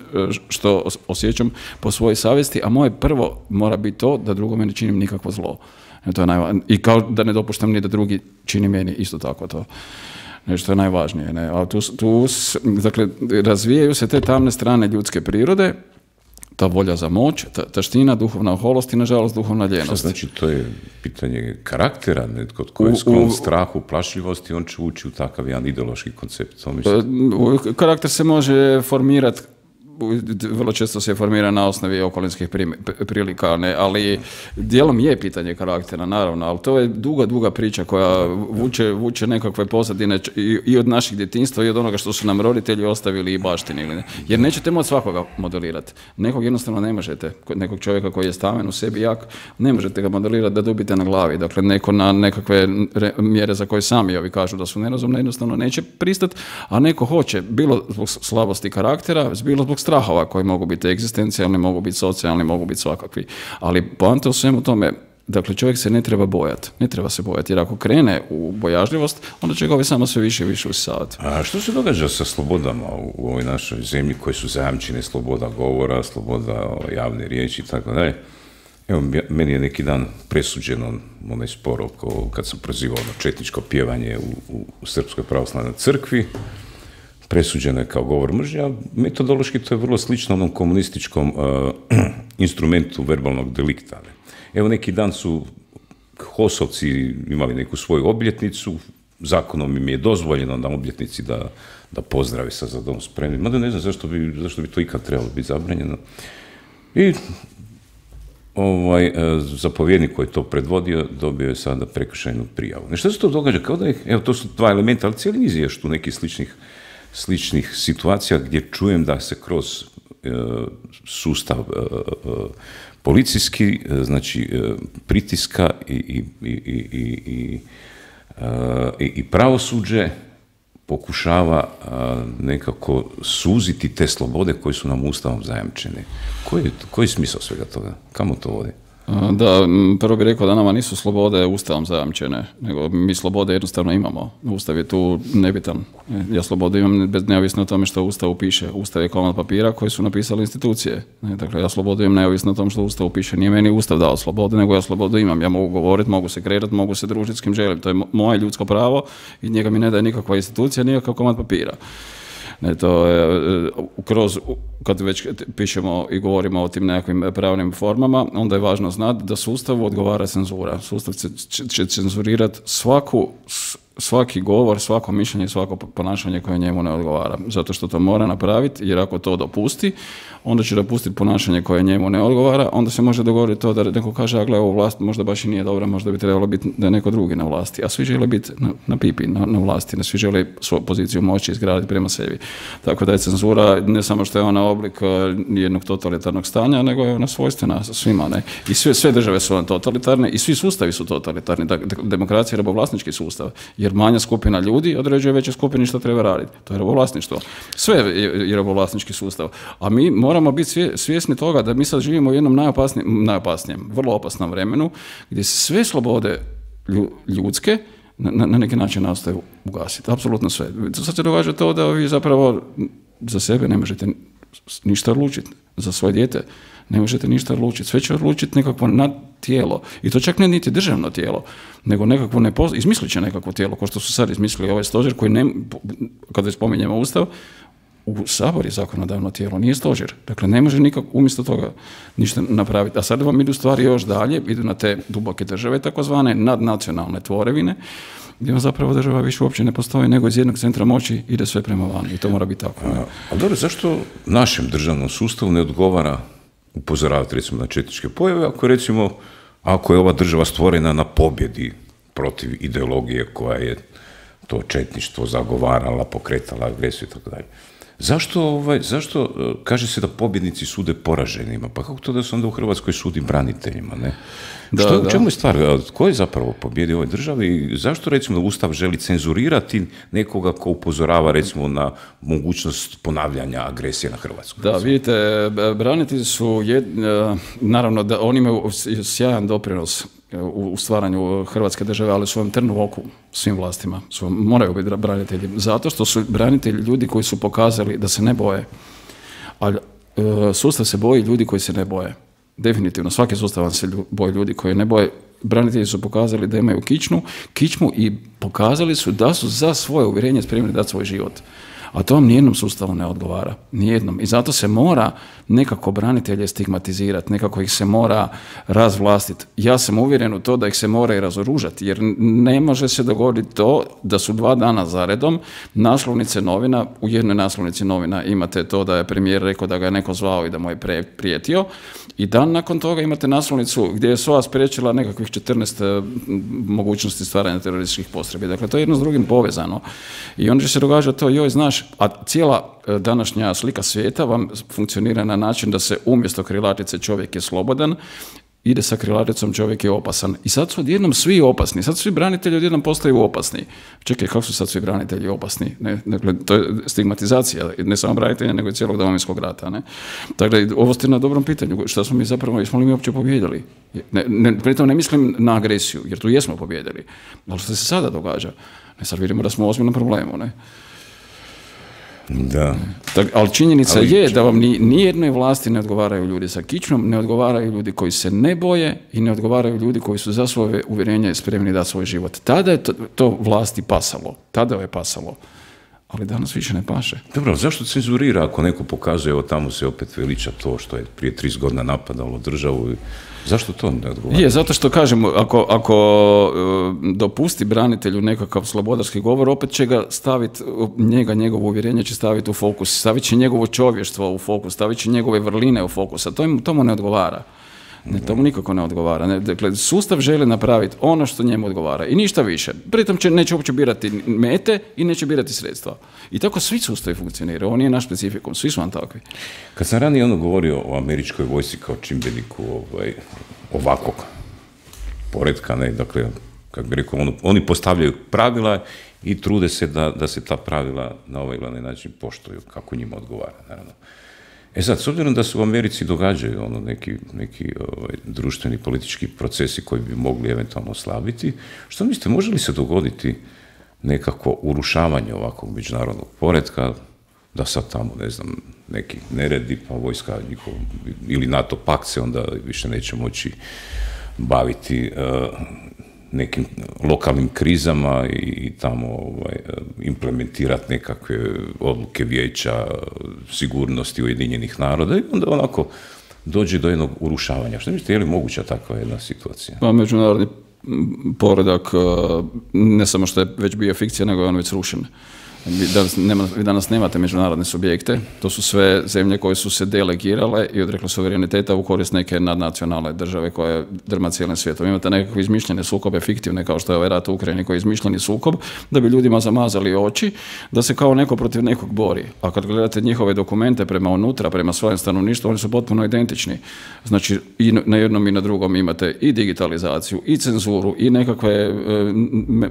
Speaker 2: što osjećam po svojoj savjesti, a moje prvo mora biti to da drugome ne činim nikakvo zlo. E, to je najva... I kao da ne dopuštam ni da drugi čini meni isto tako to. Nešto je najvažnije. Ne? A tu, tu, dakle, razvijaju se te tamne strane ljudske prirode, ta volja za moć, ta, taština, duhovna oholost i, nažalost, duhovna ljenost.
Speaker 1: Što znači, to je pitanje karaktera, netko tko je sklon strahu, plašljivosti, on će ući u takav jedan ideološki koncept.
Speaker 2: Karakter se može formirati vrlo često se formira na osnovi okolinskih prilika, ne, ali dijelom je pitanje karaktera, naravno, ali to je duga, duga priča koja vuče, vuče nekakve pozadine i, i od naših djetinjstva i od onoga što su nam roditelji ostavili i baštinili. Ne. Jer nećete moći svakoga modelirati. Nekog jednostavno ne možete, nekog čovjeka koji je staven u sebi jak, ne možete ga modelirati da dubite na glavi. Dakle, neko na nekakve re, mjere za koje sami ovi kažu da su nerazumne, jednostavno neće pristati, a neko hoće, bilo zbog slabosti karaktera, bilo zbog strahova koji mogu biti egzistencijalni, mogu biti socijalni, mogu biti svakakvi. Ali poanta u svemu tome, dakle, čovjek se ne treba bojati. Ne treba se bojati, jer ako krene u bojažljivost, onda će ga ovaj samo sve više i više usisavati.
Speaker 1: A što se događa sa slobodama u ovoj našoj zemlji koje su zajamčene, sloboda govora, sloboda javne riječi i tako dalje? Evo, meni je neki dan presuđeno onaj spor oko, kad sam prozivao na četničko pjevanje u, u, u Srpskoj pravoslavnoj crkvi. Presuđeno je kao govor mržnje, a metodološki to je vrlo slično onom komunističkom uh, instrumentu verbalnog delikta. Evo, neki dan su HOS-ovci imali neku svoju obljetnicu, zakonom im je dozvoljeno na obljetnici da, da pozdrave sa Za dom spremni. Mada ne znam zašto bi, zašto bi to ikad trebalo biti zabranjeno. I ovaj, zapovjednik koji je to predvodio dobio je sada prekršajnu prijavu. Nešto se to događa? Kao da je, evo, to su dva elementa, ali cijeli niz je još tu nekih sličnih, sličnih situacija gdje čujem da se kroz e, sustav e, e, policijski, znači pritiska i, i, i, i, i, i, i pravosuđe pokušava nekako suziti te slobode koje su nam Ustavom zajamčene. Koji je, koji je smisao svega toga? Kamo to vodi?
Speaker 2: Da, prvo bih rekao da nama nisu slobode Ustavom zajamčene, nego mi slobode jednostavno imamo. Ustav je tu nebitan. Ja slobodu imam bez neovisno o tome što u Ustavu piše. Ustav je komad papira koji su napisali institucije. Dakle, ja slobodu imam neovisno o tom što u Ustavu piše. Nije meni Ustav dao slobodu, nego ja slobodu imam. Ja mogu govoriti, mogu se kretati, mogu se družiti s kim želim. To je moje ljudsko pravo i njega mi ne daje nikakva institucija, nikakav komad papira. Ne, to je, kroz, kad već pišemo i govorimo o tim nekakvim pravnim formama, onda je važno znati da sustavu odgovara cenzura. Sustav će, će cenzurirati svaku, svaki govor, svako mišljenje, svako ponašanje koje njemu ne odgovara. Zato što to mora napraviti, jer ako to dopusti, onda će dopustiti ponašanje koje njemu ne odgovara, onda se može dogoditi to da neko kaže, a gle, ovo vlast možda baš i nije dobra, možda bi trebalo biti da je neko drugi na vlasti, a svi žele biti na, na pipi, na, na vlasti, ne svi žele svoju poziciju moći izgraditi prema sebi. Tako da je cenzura ne samo što je ona oblik jednog totalitarnog stanja, nego je ona svojstvena svima, ne? I sve, sve države su one totalitarne i svi sustavi su totalitarni. Dakle, demokracija je robovlasnički sustav, jer manja skupina ljudi određuje veće skupini što treba raditi. To je robovlasništvo. Sve je robovlasnički sustav. A mi moramo biti svjesni toga da mi sad živimo u jednom najopasnijem, najopasnijem, vrlo opasnom vremenu, gdje se sve slobode ljudske na, na neki način nastoje ugasiti. Apsolutno sve. Sad se događa to da vi zapravo za sebe ne možete ništa odlučiti. Za svoje dijete ne možete ništa odlučiti. Sve će odlučiti nekakvo nadtijelo. I to čak ne niti državno tijelo, nego nekakvo nepoz... izmislit će nekakvo tijelo, kao što su sad izmislili ovaj stožer koji, ne, kada spominjemo Ustav, u Sabor je zakonodavno tijelo, nije stožer. Dakle, ne može nikako umjesto toga ništa napraviti. A sad vam idu stvari još dalje, idu na te duboke države, takozvane nadnacionalne tvorevine, gdje vam zapravo država više uopće ne postoji, nego iz jednog centra moći ide sve prema van. I to mora biti tako.
Speaker 1: A, a dobro, zašto našem državnom sustavu ne odgovara upozoravati recimo na četničke pojave, ako recimo, ako je ova država stvorena na pobjedi protiv ideologije koja je to četništvo zagovarala, pokretala agresiju i tako dalje. Zašto, ovaj, zašto kaže se da pobjednici sude poraženima? Pa kako to da se onda u Hrvatskoj sudi braniteljima, ne? Da, Što, da. U čemu je stvar? Ko je zapravo pobjedio u ovoj državi i zašto, recimo, Ustav želi cenzurirati nekoga ko upozorava, recimo, na mogućnost ponavljanja agresije na Hrvatsku?
Speaker 2: Da, vidite, branitelji su, jed, naravno, da oni imaju sjajan doprinos u stvaranju Hrvatske države, ali svojom trnu u oku svim vlastima. Su, moraju biti branitelji. Zato što su branitelji ljudi koji su pokazali da se ne boje. Ali sustav se boji ljudi koji se ne boje. Definitivno, svaki sustav se boji ljudi koji ne boje. Branitelji su pokazali da imaju kičmu, kičmu i pokazali su da su za svoje uvjerenje spremni dati svoj život. A to vam nijednom sustavu ne odgovara. Nijednom. I zato se mora nekako branitelje stigmatizirati, nekako ih se mora razvlastiti. Ja sam uvjeren u to da ih se mora i razoružati, jer ne može se dogoditi to da su dva dana zaredom naslovnice novina, u jednoj naslovnici novina imate to da je premijer rekao da ga je neko zvao i da mu je prijetio, i dan nakon toga imate naslovnicu gdje je S O A spriječila nekakvih četrnaest mogućnosti stvaranja terorističkih postrojbi. Dakle, to je jedno s drugim povezano. I onda će se događati to, joj, znaš, a cijela današnja slika svijeta vam funkcionira na način da se umjesto krilatice čovjek je slobodan, ide sa krilaticom čovjek je opasan. I sad su odjednom svi opasni. Sad svi branitelji odjednom postaju opasni. Čekaj, kako su sad svi branitelji opasni? Ne? Dakle, to je stigmatizacija, ne samo branitelja, nego i cijelog Domovinskog rata. Ne? Dakle, ovo ste na dobrom pitanju. Šta smo mi zapravo, jesmo li mi uopće pobijedili? Ne, ne, pritom ne mislim na agresiju, jer tu jesmo pobijedili. Ali što se sada događa? Ne, sad vidimo da smo u ozbiljnom problemu. Ne?
Speaker 1: Da.
Speaker 2: Tak, ali činjenica ali, je da vam ni, nijednoj vlasti ne odgovaraju ljudi sa kičmom, ne odgovaraju ljudi koji se ne boje i ne odgovaraju ljudi koji su za svoje uvjerenje spremni dati svoj život. Tada je to, to vlasti pasalo. Tada je pasalo. Ali danas više ne paše.
Speaker 1: Dobro, zašto cenzurira ako neko pokazuje, evo tamo se opet veliča to što je prije trideset godina napadalo državu? Zašto to ne odgovara?
Speaker 2: Je, zato što kažem, ako, ako uh, dopusti branitelju nekakav slobodarski govor, opet će ga staviti, njega, njegovo uvjerenje će staviti u fokus, stavit će njegovo čovještvo u fokus, stavit će njegove vrline u fokus, a to, im, to mu ne odgovara. Ne, to mu nikako ne odgovara. Ne, dakle, sustav želi napraviti ono što njemu odgovara i ništa više. Pritom će, neće uopće birati mete i neće birati sredstva. I tako svi sustavi funkcioniraju. Ovo nije naš specifikum, svi su vam takvi.
Speaker 1: Kad sam ranije ono govorio o američkoj vojsci kao čimbeniku ovaj, ovakvog poretka, ne, dakle, kako bi rekao, ono, oni postavljaju pravila i trude se da, da se ta pravila na ovaj ili onaj način poštuju, kako njima odgovara, naravno. E sad, s obzirom da se u Americi događaju ono, neki, neki ovaj, društveni politički procesi koji bi mogli eventualno oslabiti, što mislite, može li se dogoditi nekako urušavanje ovakvog međunarodnog poretka, da sad tamo, ne znam, neki neredi, pa vojska njihov, ili NATO pakt se onda više neće moći baviti uh, nekim lokalnim krizama i tamo ovaj, implementirati nekakve odluke Vijeća sigurnosti Ujedinjenih naroda i onda onako dođe do jednog urušavanja. Što mislite, je li moguća takva jedna situacija?
Speaker 2: Pa međunarodni poredak ne samo što je već bio fikcija, nego je on već srušen. Vi danas, nema, vi danas nemate međunarodne subjekte, to su sve zemlje koje su se delegirale i odrekle suvereniteta u korist neke nadnacionalne države koje drma cijelim svijetom. Imate nekakve izmišljene sukobe, fiktivne, kao što je ovaj rat u Ukrajini koji je izmišljeni sukob, da bi ljudima zamazali oči, da se kao neko protiv nekog bori. A kad gledate njihove dokumente prema unutra, prema svojem stanovništvu, oni su potpuno identični. Znači, i na jednom i na drugom imate i digitalizaciju, i cenzuru, i nekakve e,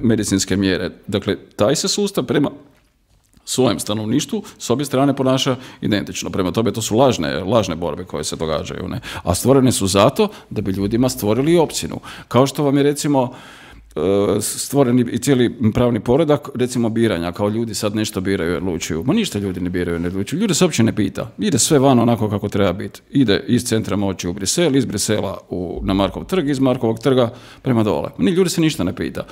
Speaker 2: medicinske mjere. Dakle, taj se sustav prema svojem stanovništvu s obje strane ponaša identično. Prema tome, to su lažne, lažne borbe koje se događaju. Ne? A stvorene su zato da bi ljudima stvorili opciju. Kao što vam je, recimo, stvoreni i cijeli pravni poredak, recimo biranja, kao ljudi sad nešto biraju i odlučuju. Ma ništa ljudi ne biraju i ne odlučuju. Ljudi se uopće ne pita. Ide sve van onako kako treba biti. Ide iz centra moći u Brisel, iz Brisela u, na Markov trg, iz Markovog trga prema dole. Ni ljudi se ništa ne pita.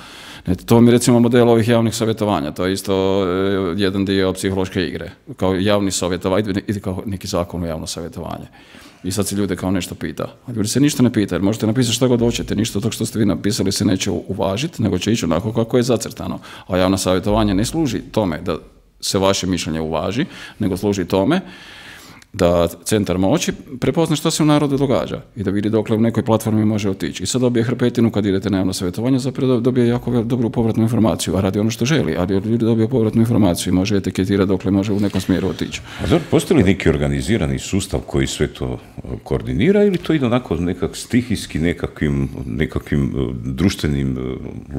Speaker 2: Ne, to mi recimo model ovih javnih savjetovanja. To je isto e, jedan dio psihološke igre. Kao javni savjetovanje, ide kao neki zakon o javno savjetovanje. I sad se ljude kao nešto pita. A ljudi se ništa ne pita, jer možete napisati što god hoćete, ništa od tog što ste vi napisali se neće uvažiti, nego će ići onako kako je zacrtano. A javno savjetovanje ne služi tome da se vaše mišljenje uvaži, nego služi tome da centar moći prepozna što se u narodu događa i da vidi dokle u nekoj platformi može otići. I sad dobije hrpetinu kad idete na javno savjetovanje, zapravo dobije jako dobru povratnu informaciju, a radi ono što želi, ali ljudi dobije povratnu informaciju i može etiketirati dokle može u nekom smjeru otići.
Speaker 1: A dobro, postoji li neki organizirani sustav koji sve to koordinira ili to ide onako nekak stihijski nekakvim, nekakvim društvenim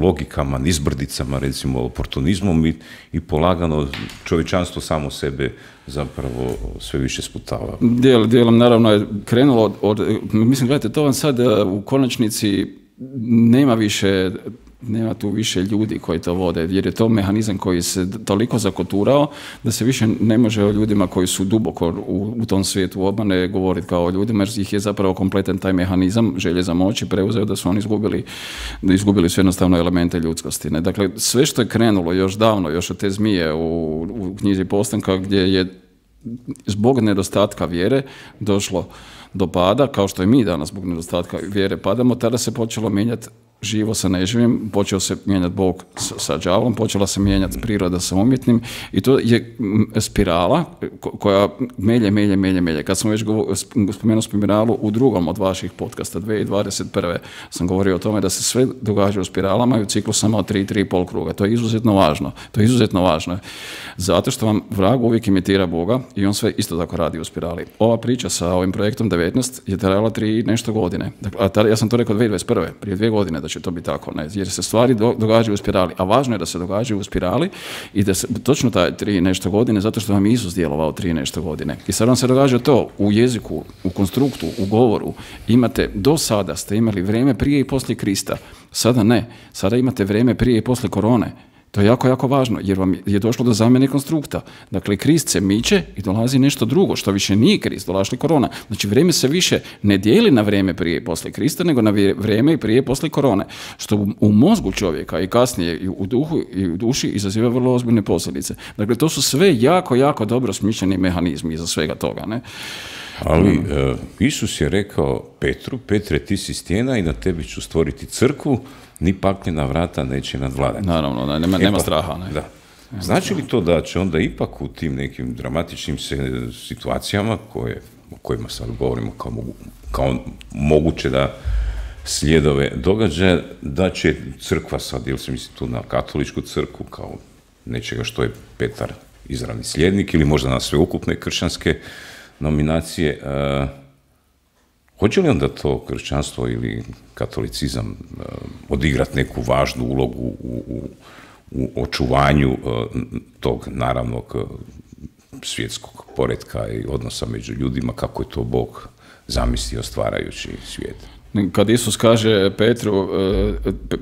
Speaker 1: logikama, nizbrdicama, recimo oportunizmom i, i polagano čovječanstvo samo sebe zapravo sve više sputava?
Speaker 2: Dijel, dijelom naravno je krenulo od, od, mislim, gledajte, to vam sad u konačnici nema više nema tu više ljudi koji to vode, jer je to mehanizam koji se toliko zakoturao da se više ne može o ljudima koji su duboko u, u tom svijetu obmane govoriti kao o ljudima, jer ih je zapravo kompletan taj mehanizam želje za moći preuzeo da su oni izgubili, izgubili su jednostavno elemente ljudskosti. Ne? Dakle, sve što je krenulo još davno, još od te zmije u, u knjizi Postanka, gdje je zbog nedostatka vjere došlo do pada, kao što i mi danas zbog nedostatka vjere padamo, tada se počelo mijenjati živo sa neživim, počeo se mijenjati Bog sa đavolom, počela se mijenjati priroda sa umjetnim i to je spirala koja melje, melje, melje, melje. Kad sam već spomenuo spiralu u drugom od vaših podcasta, dvije tisuće dvadeset prve sam govorio o tome da se sve događa u spiralama i u ciklusama od tri, tri i pol kruga. To je izuzetno važno. To je izuzetno važno. Zato što vam vrag uvijek imitira Boga i on sve isto tako radi u spirali. Ova priča sa ovim projektom devetnaest je trajala tri nešto godine. Dakle, a tada, ja sam to rekao dvije tisuće dvadeset prve, prije dvije godine da će to biti tako, ne? Jer se stvari do, događaju u spirali, a važno je da se događaju u spirali i da se točno taj tri nešto godine, zato što vam je Isus djelovao tri nešto godine. I sad vam se događa to u jeziku, u konstruktu, u govoru. Imate, do sada ste imali vrijeme prije i poslije Krista, sada ne, sada imate vrijeme prije i poslije korone. To je jako, jako važno, jer vam je došlo do zamjene konstrukta. Dakle, Krist se miče i dolazi nešto drugo, što više nije Krist, dolazi korona. Znači, vrijeme se više ne dijeli na vrijeme prije i poslije Krista, nego na vrijeme i prije i poslije korone. Što u, u mozgu čovjeka i kasnije i u duhu i u duši izaziva vrlo ozbiljne posljedice. Dakle, to su sve jako, jako dobro smišljeni mehanizmi iza svega toga, ne?
Speaker 1: Ali uh, Isus je rekao Petru, Petre, ti si stijena i na tebi ću stvoriti crkvu, ni pakljena vrata neće nadvladati.
Speaker 2: Naravno, nema, nema straha. Ne?
Speaker 1: Da. Znači li to da će onda ipak u tim nekim dramatičnim se, situacijama, koje, o kojima sad govorimo kao, mogu, kao moguće da slijedove događaja, da će crkva sad, jel se misli tu na katoličku crkvu, kao nečega što je Petar izravni slijednik, ili možda na sveukupne kršćanske nominacije, uh, hoće li onda to kršćanstvo ili katolicizam uh, odigrati neku važnu ulogu u, u, u očuvanju uh, tog naravnog uh, svjetskog poretka i odnosa među ljudima, kako je to Bog zamislio stvarajući svijet?
Speaker 2: Kad Isus kaže Petru,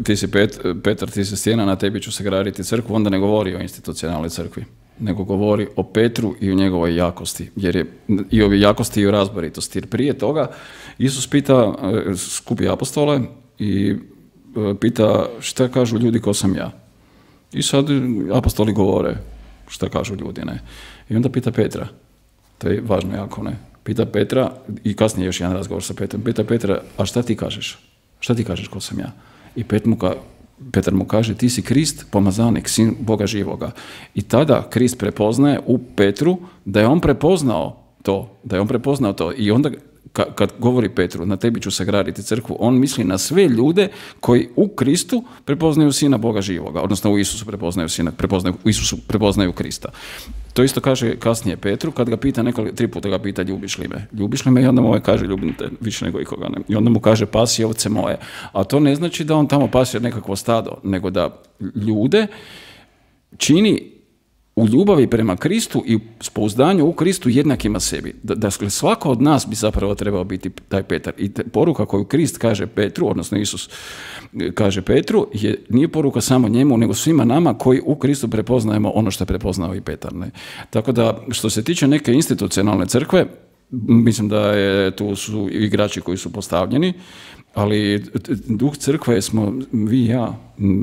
Speaker 2: ti si Pet, Petar, ti si stijena, na tebi ću se graditi crkvu, onda ne govori o institucionalnoj crkvi, nego govori o Petru i o njegovoj jakosti, jer je i o jakosti i o razboritosti. Jer prije toga Isus pita, skupi apostole i pita šta kažu ljudi ko sam ja. I sad apostoli govore šta kažu ljudi, ne. I onda pita Petra, to je važno jako, ne. Pita Petra, i kasnije još jedan razgovor sa Petrom, pita Petra, a šta ti kažeš? Šta ti kažeš ko sam ja? I Pet mu ka, Petar mu kaže, ti si Krist, pomazanik, sin Boga živoga. I tada Krist prepoznaje u Petru da je on prepoznao to, da je on prepoznao to. I onda kad govori Petru, na tebi ću sagraditi crkvu, on misli na sve ljude koji u Kristu prepoznaju sina Boga živoga, odnosno u Isusu prepoznaju sina, prepoznaju, u Isusu prepoznaju Krista. To isto kaže kasnije Petru, kad ga pita nekoliko, tri puta ga pita, ljubiš li me? Ljubiš li me? I onda mu ovaj kaže, ljubim te više nego ikoga ne. I onda mu kaže, pasi ovce moje. A to ne znači da on tamo pasi nekakvo stado, nego da ljude čini u ljubavi prema Kristu i s pouzdanju u Kristu jednakima sebi. Da, da svako od nas bi zapravo trebao biti taj Petar. I te, poruka koju Krist kaže Petru, odnosno Isus kaže Petru, je, nije poruka samo njemu, nego svima nama koji u Kristu prepoznajemo ono što je prepoznao i Petar. Ne? Tako da, što se tiče neke institucionalne crkve, mislim da je, tu su igrači koji su postavljeni, ali duh crkve smo vi i ja,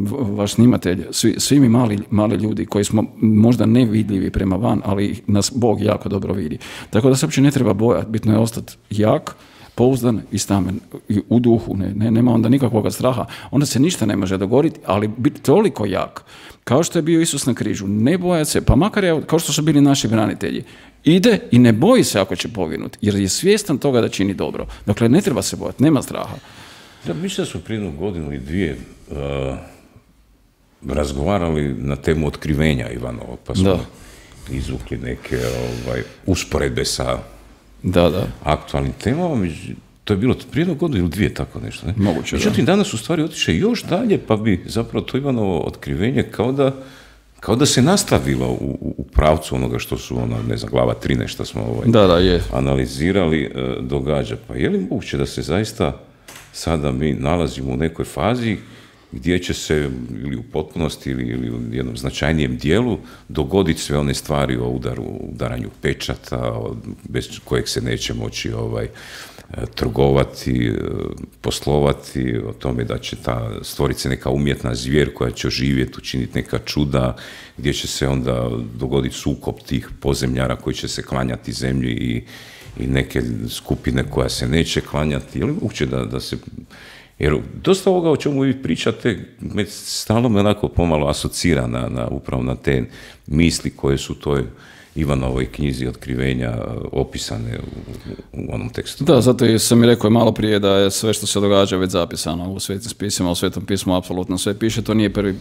Speaker 2: vaš snimatelj, svi, svi mi mali, mali ljudi koji smo možda nevidljivi prema van, ali nas Bog jako dobro vidi. Tako da se uopće ne treba bojati, bitno je ostati jak, pouzdan i stamen i u duhu, ne, ne, nema onda nikakvog straha, onda se ništa ne može dogoditi, ali biti toliko jak, kao što je bio Isus na križu, ne bojati se, pa makar je, kao što su bili naši branitelji, ide i ne boji se ako će poginuti, jer je svjestan toga da čini dobro. Dakle, ne treba se bojati, nema straha.
Speaker 1: Da, mislim da smo prije jednu godinu i dvije uh, razgovarali na temu otkrivenja Ivanova, pa smo da. izvukli neke ovaj, usporedbe sa
Speaker 2: da, da.
Speaker 1: aktualnim temama. To je bilo prije jednu godinu ili dvije, tako nešto. Ne?
Speaker 2: Moguće,
Speaker 1: Međutim,
Speaker 2: da.
Speaker 1: danas u stvari otiše još dalje, pa bi zapravo to Ivanovo otkrivenje kao da, kao da se nastavilo u, u pravcu onoga što su, ono, ne znam, glava tri nešto smo ovaj,
Speaker 2: da, da, je.
Speaker 1: analizirali, uh, događa. Pa je li moguće da se zaista sada mi nalazimo u nekoj fazi gdje će se ili u potpunosti ili, ili u jednom značajnijem dijelu dogoditi sve one stvari o udaru, udaranju pečata, bez kojeg se neće moći ovaj, trgovati, poslovati, o tome da će ta stvoriti se neka umjetna zvijer koja će oživjeti, učiniti neka čuda, gdje će se onda dogoditi sukob tih pozemljara koji će se klanjati zemlji i, i neke skupine koja se neće klanjati. Je li moguće da, da se... Jer dosta ovoga o čemu vi pričate, me stalno me onako pomalo asocira na, na, upravo na te misli koje su toj Ivanovoj knjizi Otkrivenja opisane u, u onom tekstu.
Speaker 2: Da, zato i sam mi rekao malo prije da je sve što se događa već zapisano u svetim spisima, u Svetom pismu apsolutno sve piše. To nije prvi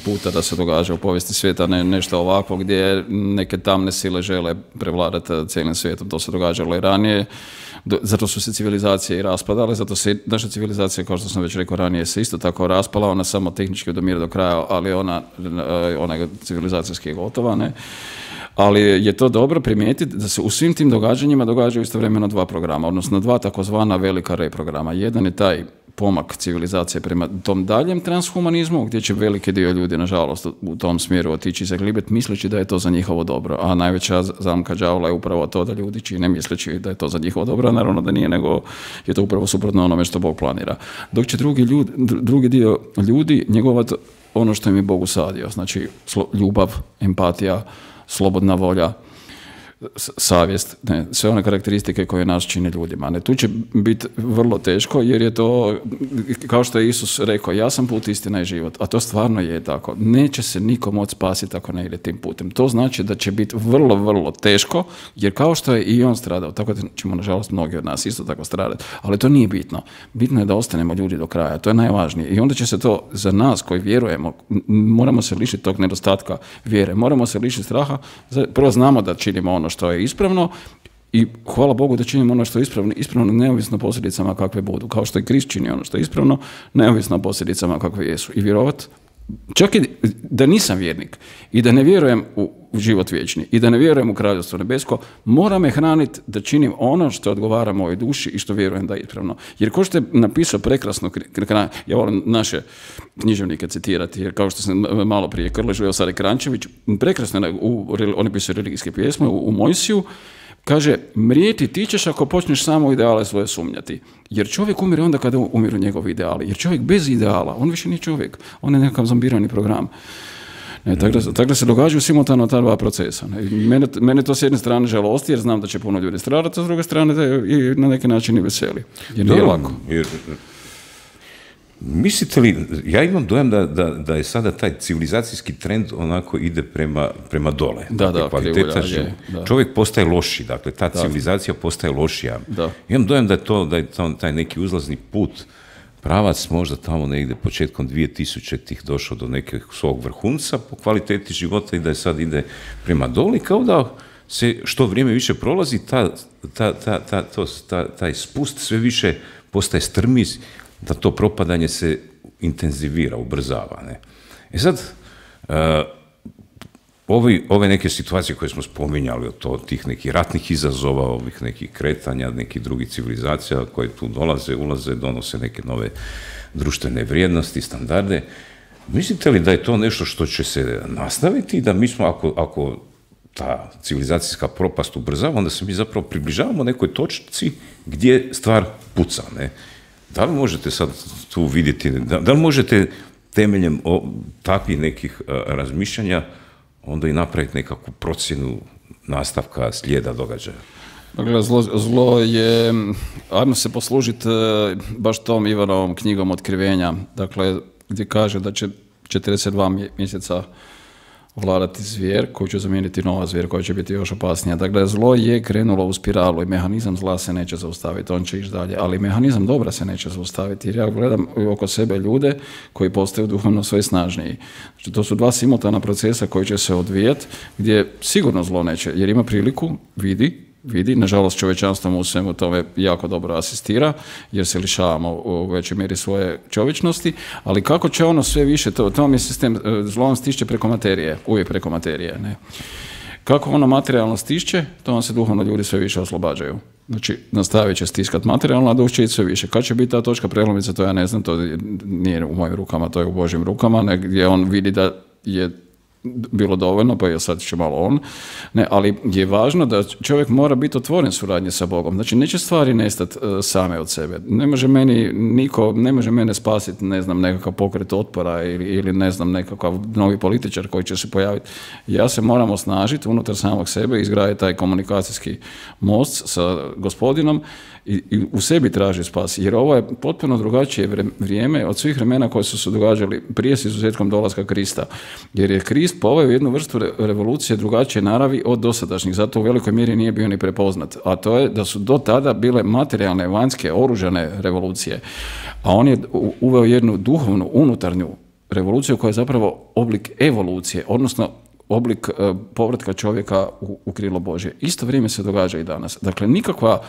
Speaker 2: puta da se događa u povijesti svijeta ne, nešto ovako gdje neke tamne sile žele prevladati cijelim svijetom. To se događalo i ranije. Zato su se civilizacije i raspadale, zato se naša civilizacija, kao što sam već rekao ranije, se isto tako raspala, ona samo tehnički odumire do kraja, ali ona, ona je civilizacijski gotova, ne? Ali je to dobro primijetiti da se u svim tim događanjima događaju istovremeno dva programa, odnosno dva takozvana velika reprograma. Jedan je taj pomak civilizacije prema tom daljem transhumanizmu, gdje će veliki dio ljudi, nažalost, u tom smjeru otići zaglibet, misleći da je to za njihovo dobro. A najveća zamka đavola je upravo to da ljudi čine misleći da je to za njihovo dobro, naravno da nije, nego je to upravo suprotno onome što Bog planira. Dok će drugi, ljudi, drugi dio ljudi njegovati ono što im je Bog usadio, znači ljubav, empatija, slobodna volja, savjest, ne, sve one karakteristike koje nas čine ljudima. Ne, tu će biti vrlo teško jer je to, kao što je Isus rekao, ja sam put, istina i život, a to stvarno je tako. Neće se niko moći spasiti ako ne ide tim putem. To znači da će biti vrlo, vrlo teško, jer kao što je i on stradao, tako da ćemo, nažalost, mnogi od nas isto tako stradati, ali to nije bitno. Bitno je da ostanemo ljudi do kraja, to je najvažnije. I onda će se to za nas koji vjerujemo, moramo se lišiti tog nedostatka vjere, moramo se lišiti straha, prvo znamo da činimo ono što je ispravno i hvala Bogu da činimo ono što je ispravno, ispravno neovisno posljedicama kakve budu, kao što je Krist čini ono što je ispravno, neovisno posljedicama kakve jesu. I vjerovat, čak i da nisam vjernik i da ne vjerujem u, u život vječni i da ne vjerujem u Kraljevstvo nebesko, mora me hraniti da činim ono što odgovara mojoj duši i što vjerujem da je ispravno. Jer ko što je napisao prekrasno, ja volim naše književnike citirati, jer kao što sam malo prije Krležu, evo sad je Krančević, prekrasno je, u, on je pisao religijske pjesme, u, u Mojsiju, kaže, mrijeti ti ćeš ako počneš samo u ideale svoje sumnjati. Jer čovjek umire onda kada umiru njegovi ideali. Jer čovjek bez ideala, on više nije čovjek. On je nekakav zombirani program. Ne, tako, da, tako da se događaju simultano ta dva procesa. Ne. Mene, mene to s jedne strane žalosti jer znam da će puno ljudi stradati, a s druge strane da je i na neki način i veseli. Jer nije lako.
Speaker 1: Jer, mislite li, ja imam dojam da, da, da je sada taj civilizacijski trend onako ide prema, prema dole.
Speaker 2: Da,
Speaker 1: dakle,
Speaker 2: da,
Speaker 1: kvaliteta
Speaker 2: krivulja, je, da.
Speaker 1: Čovjek postaje loši, dakle ta da. civilizacija postaje lošija.
Speaker 2: Da.
Speaker 1: Imam dojam da je to, da je to taj neki uzlazni put, pravac možda tamo negdje početkom dvije tisućitih došao do nekog svog vrhunca po kvaliteti života i da je sad ide prema dole, kao da se što vrijeme više prolazi, ta, ta, ta, ta, to, ta, taj spust sve više postaje strmiz, da to propadanje se intenzivira, ubrzava. Ne? E sad, uh, ovi, ove neke situacije koje smo spominjali, od to, tih nekih ratnih izazova, ovih nekih kretanja, nekih drugih civilizacija koje tu dolaze, ulaze, donose neke nove društvene vrijednosti, standarde, mislite li da je to nešto što će se nastaviti i da mi smo, ako, ako ta civilizacijska propast ubrzava, onda se mi zapravo približavamo nekoj točci gdje stvar puca, ne? Da li možete sad tu vidjeti, da, da li možete temeljem o, takvih nekih a, razmišljanja onda i napraviti nekakvu procjenu nastavka slijeda događaja?
Speaker 2: Dakle, zlo, zlo je, ajmo se poslužiti baš tom Ivanovom knjigom Otkrivenja, dakle, gdje kaže da će četrdeset dva mjeseca vladati zvijer koji će zamijeniti nova zvijer koja će biti još opasnija. Dakle, zlo je krenulo u spiralu i mehanizam zla se neće zaustaviti, on će ići dalje, ali mehanizam dobra se neće zaustaviti jer ja gledam oko sebe ljude koji postaju duhovno sve snažniji. Znači, to su dva simultana procesa koji će se odvijati gdje sigurno zlo neće, jer ima priliku, vidi, vidi, nažalost čovječanstvo mu u svemu tome jako dobro asistira, jer se lišavamo u većoj mjeri svoje čovječnosti, ali kako će ono sve više, to, to vam je sistem, zlo vam stiže preko materije, uvijek preko materije, ne? Kako ono materijalno stišće, to vam se duhovno ljudi sve više oslobađaju. Znači, nastavit će stiskati materijalno, a duh će ići sve više. Kad će biti ta točka prelomnice, to ja ne znam, to nije u mojim rukama, to je u Božjim rukama, gdje on vidi da je bilo dovoljno, pa je sad će malo on. Ne, ali je važno da čovjek mora biti otvoren suradnje sa Bogom. Znači, neće stvari nestati uh, same od sebe. Ne može meni niko, ne može mene spasiti, ne znam, nekakav pokret otpora ili, ili ne znam, nekakav novi političar koji će se pojaviti. Ja se moram osnažiti unutar samog sebe i izgraditi taj komunikacijski most sa Gospodinom i, i u sebi traži spas. Jer ovo je potpuno drugačije vrijeme od svih vremena koje su se događali prije s izuzetkom dolaska Krista. Jer je Krist poveo jednu vrstu revolucije drugačije naravi od dosadašnjih, zato u velikoj mjeri nije bio ni prepoznat. A to je da su do tada bile materijalne, vanjske, oružane revolucije. A on je uveo jednu duhovnu, unutarnju revoluciju koja je zapravo oblik evolucije, odnosno oblik uh, povratka čovjeka u, u krilo Božje. Isto vrijeme se događa i danas. Dakle, nikakva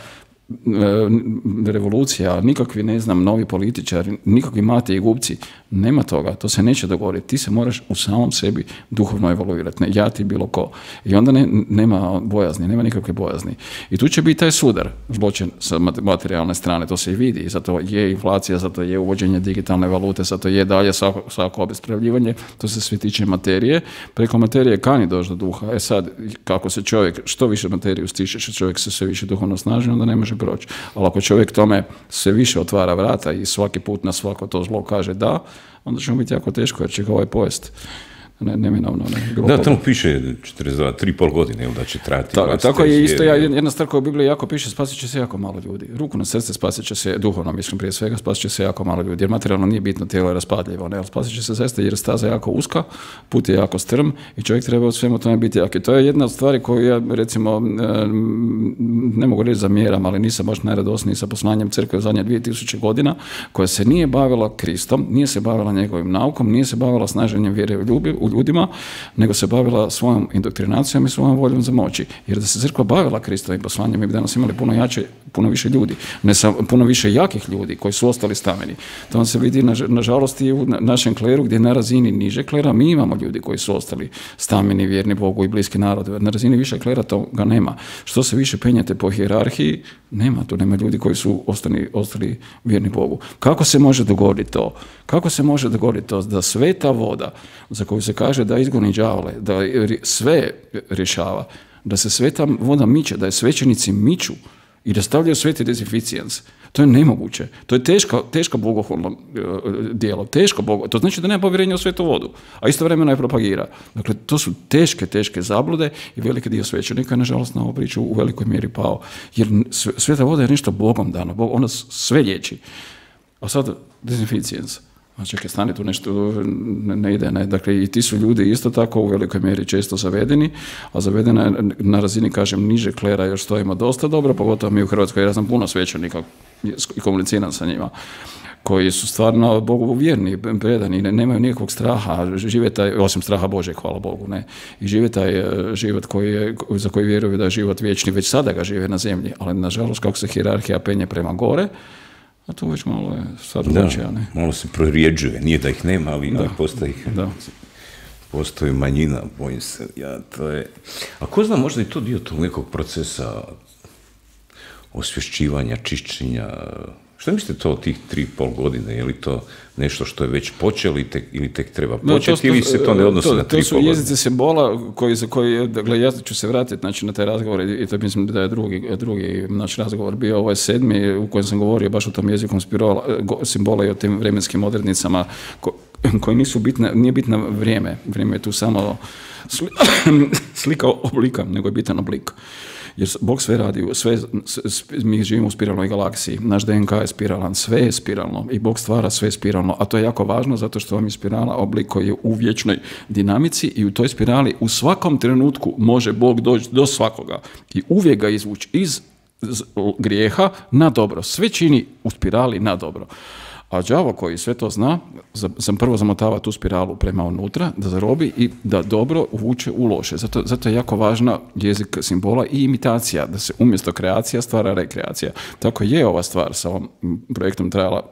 Speaker 2: revolucija, nikakvi, ne znam, novi političari, nikakvi mate i gubci, nema toga, to se neće dogoditi. Ti se moraš u samom sebi duhovno evoluirati, ne ja ti bilo ko. I onda ne, nema bojazni, nema nikakve bojazni. I tu će biti taj sudar, zločin sa materijalne strane, to se i vidi, zato je inflacija, zato je uvođenje digitalne valute, zato je dalje svako, svako obespravljivanje, to se sve tiče materije. Preko materije kani doći do duha. E sad, kako se čovjek, što više materiju stiče, čovjek se sve više duhovno snaži, onda ne može proći. Ali ako čovjek tome sve više otvara vrata i svaki put na svako to zlo kaže da, onda će mu biti jako teško jer će ga ovaj pojest. Ne, neminovno, ne.
Speaker 1: Da, tamo piše četrdeset dva, tri i pol godine, ili da će trajati.
Speaker 2: Ta, tako je isto, ja, jedna stvar koja u Bibliji jako piše, spasit će se jako malo ljudi. Ruku na srce spasit će se, duhovno mislim prije svega, spasit će se jako malo ljudi, jer materijalno nije bitno, tijelo je raspadljivo, ne, ali spasit će se zaista jer staza je jako uska, put je jako strm i čovjek treba u svemu tome biti jak. I to je jedna od stvari koju ja, recimo, ne mogu reći zamjeram, ali nisam baš najradosniji sa poslanjem crkve u zadnje dvije tisuće godina, koja se nije bavila Kristom, nije se bavila njegovim naukom, nije se bavila snaženjem vjere u ljubi, u ljudima, nego se bavila svojom indoktrinacijom i svojom voljom za moći. Jer da se crkva bavila Kristovim poslanjem, mi bi danas imali puno jače, puno više ljudi, ne samo, puno više jakih ljudi koji su ostali stameni. To vam se vidi, nažalost, i u našem kleru, gdje na razini niže klera mi imamo ljudi koji su ostali stameni, vjerni Bogu i bliski narodu. Na razini više klera toga nema. Što se više penjate po hijerarhiji, nema, tu nema ljudi koji su ostali, ostali vjerni Bogu. Kako se može dogoditi to? Kako se može dogoditi to da sveta voda, za koju se kaže da izgoni đavole, da sve rješava, da se sveta voda miče, da je svećenici miču i da stavljaju sveti dezinficijens, to je nemoguće. To je teška, teška bogohulno uh, djelo, teško bogo. To znači da nema povjerenja u svetu vodu, a istovremeno je propagira. Dakle, to su teške, teške zablude i veliki dio svećenika je, nažalost, na ovu priču u velikoj mjeri pao. Jer sveta voda je nešto Bogom dano, Bog, ona sve liječi. A sad dezinficijens. A čekaj, stani tu nešto, ne, ne ide, ne. Dakle, i ti su ljudi isto tako u velikoj mjeri često zavedeni, a zavedena je na razini, kažem, niže klera još stojimo dosta dobro, pogotovo mi u Hrvatskoj, ja znam puno svećenika i komuniciram sa njima, koji su stvarno Bogu vjerni, predani, ne, nemaju nikakvog straha, žive taj, osim straha Bože, hvala Bogu, ne, i žive taj život koji je, za koji vjeruju da je život vječni, već sada ga žive na zemlji, ali nažalost kako se hijerarhija penje prema gore, a tu već malo je sad drugačija, ne?
Speaker 1: Malo se prorijeđuje, nije da ih nema, ali, ali postoji, da. postoji manjina, bojim se, ja, to je... A ko zna, možda i to dio tog nekog procesa osvješćivanja, čišćenja, što mislite to tih tri i pol godine, je li to nešto što je već počelo ili tek, ili tek treba početi, no, to, ili se to ne odnosi to, na tri i pol godine?
Speaker 2: To su jezice simbola koji, za koji, dakle, ja ću se vratiti znači, na taj razgovor i to mislim da je drugi, drugi naš razgovor bio, ovo je sedmi u kojem sam govorio baš o tom jezikom spirola, simbola i o tim vremenskim odrednicama ko, koji nisu bitne, nije bitno vrijeme, vrijeme je tu samo sli, slika oblika, nego je bitan oblik. Jer Bog sve radi, sve, mi živimo u spiralnoj galaksiji, naš D N K je spiralan, sve je spiralno i Bog stvara sve spiralno, a to je jako važno zato što vam je spirala oblik koji je u vječnoj dinamici i u toj spirali u svakom trenutku može Bog doći do svakoga i uvijek ga izvući iz grijeha na dobro. Sve čini u spirali na dobro. A đavo koji sve to zna, sam prvo zamotava tu spiralu prema unutra, da zarobi i da dobro uvuče u loše. Zato, zato je jako važna jezik simbola i imitacija, da se umjesto kreacija stvara rekreacija. Tako je ova stvar sa ovom projektom trajala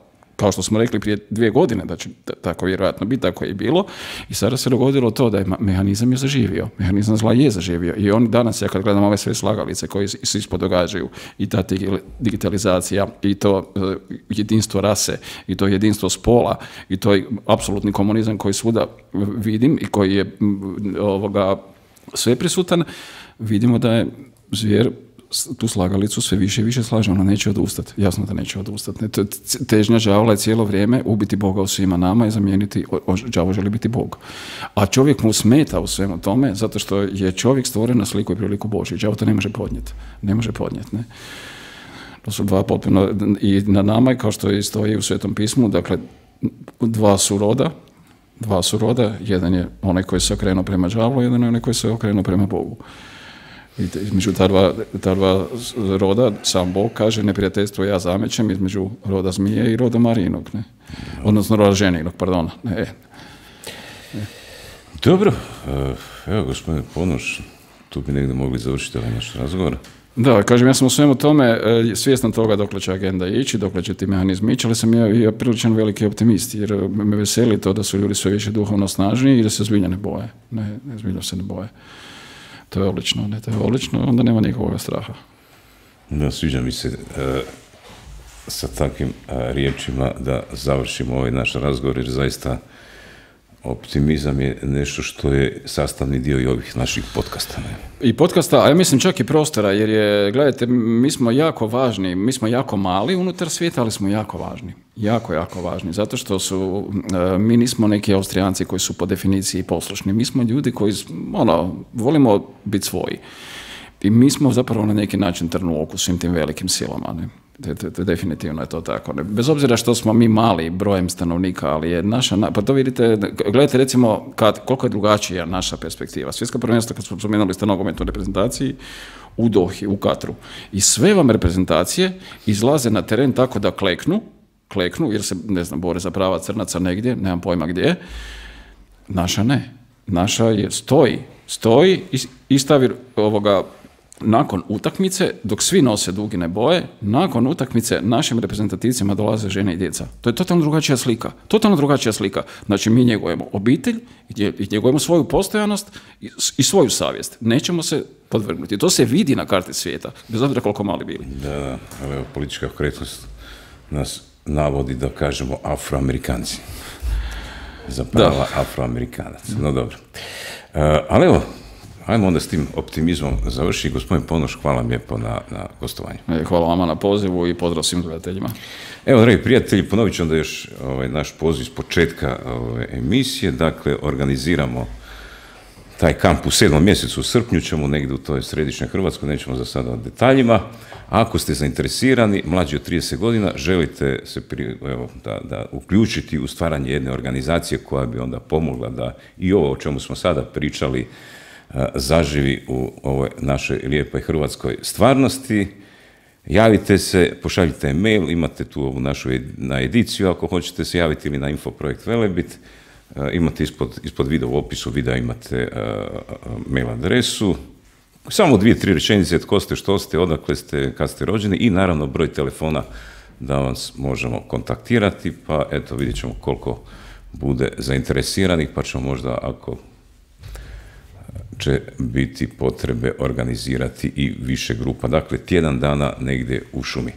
Speaker 2: kao što smo rekli prije dvije godine da će tako vjerojatno biti, tako je i bilo, i sada se dogodilo to da je mehanizam je zaživio, mehanizam zla je zaživio i on danas, ja kad gledam ove sve slagalice koje se ispod događaju i ta digitalizacija i to uh, jedinstvo rase i to jedinstvo spola i to je apsolutni komunizam koji svuda vidim i koji je ovoga sve prisutan, vidimo da je zvijer tu slagalicu sve više i više slaže, ona neće odustati. Jasno da neće odustati. Težnja đavola je cijelo vrijeme ubiti Boga u svima nama i zamijeniti, đavo želi biti Bog. A čovjek mu smeta u svemu tome, zato što je čovjek stvoren na sliku i priliku Božju. Đavo to ne može podnijeti. Ne može podnijeti, ne. To su dva potpuno, i na nama, kao što i stoji u Svetom pismu, dakle, dva su roda, dva su roda, jedan je onaj koji se okrenuo prema đavlu, jedan je onaj koji se okrenuo prema Bogu. I između ta dva, ta dva roda, sam Bog kaže, neprijateljstvo ja zamećem između roda zmije i roda Marijinog, ne? Odnosno roda ženinog, pardon. Ne. Ne.
Speaker 1: Dobro, evo gospodine Ponoš, tu bi negdje mogli završiti ovaj naš razgovor.
Speaker 2: Da, kažem, ja sam u svemu tome svjestan toga dokle će agenda ići, dokle će ti mehanizmi ići, ali sam ja, ja priličan veliki optimist, jer me veseli to da su ljudi sve više duhovno snažniji i da se zbilja ne boje. Ne, ne zbilja se ne boje. To je odlično, ne, to je odlično, onda nema nikakvog straha.
Speaker 1: Da, sviđa mi se e, sa takvim e, riječima da završimo ovaj naš razgovor, jer zaista optimizam je nešto što je sastavni dio i ovih naših podcasta. Ne?
Speaker 2: I podcasta, a ja mislim čak i prostora, jer je, gledajte, mi smo jako važni, mi smo jako mali unutar svijeta, ali smo jako važni. Jako, jako važni, zato što su, mi nismo neki Austrijanci koji su po definiciji poslušni, mi smo ljudi koji, ono, volimo biti svoji. I mi smo zapravo na neki način trn u oku svim tim velikim silama, ne? De, de, de, definitivno je to tako. Ne? Bez obzira što smo mi mali brojem stanovnika, ali je naša, pa to vidite, gledajte recimo kad, koliko je drugačija naša perspektiva. Svjetska prvenstva, kad smo spomenuli ste nogometnoj reprezentaciji, u Dohi, u Katru. I sve vam reprezentacije izlaze na teren tako da kleknu, kleknu, jer se, ne znam, bore za prava crnaca negdje, nemam pojma gdje. Naša ne. Naša je stoji, stoji i, i stavi ovoga, nakon utakmice, dok svi nose dugine boje, nakon utakmice našim reprezentativcima dolaze žene i djeca. To je totalno drugačija slika. Totalno drugačija slika. Znači, mi njegujemo obitelj, i njegujemo svoju postojanost i, i svoju savjest. Nećemo se podvrgnuti. To se vidi na karti svijeta, bez obzira koliko mali bili.
Speaker 1: Da, ali politička korektnost nas navodi da kažemo Afroamerikanci. Za prava Afroamerikanaca. No dobro. Uh, ali evo, ajmo onda s tim optimizmom završi. Gospodin Ponoš, hvala lijepo na, na gostovanju.
Speaker 2: Hvala vama na pozivu i pozdrav svim gledateljima.
Speaker 1: Evo, dragi prijatelji, ponovit ću onda još ovaj, naš poziv s početka ove emisije. Dakle, organiziramo taj kamp u sedmom mjesecu, u srpnju ćemo negdje u toj središnjoj Hrvatskoj, nećemo za sada o detaljima. Ako ste zainteresirani, mlađi od trideset godina, želite se pri, evo, da, da uključiti u stvaranje jedne organizacije koja bi onda pomogla da i ovo o čemu smo sada pričali zaživi u ovoj našoj lijepoj hrvatskoj stvarnosti. Javite se, pošaljite e-mail, imate tu ovu našu na ediciju ako hoćete se javiti ili na Infoprojekt Velebit. Imate ispod, ispod videa u opisu videa imate uh, mail adresu. Samo dvije, tri rečenice, tko ste, što ste, odakle ste, kad ste rođeni i naravno broj telefona da vas možemo kontaktirati, pa eto vidjet ćemo koliko bude zainteresiranih, pa ćemo možda ako će biti potrebe organizirati i više grupa. Dakle, tjedan dana negdje u šumi.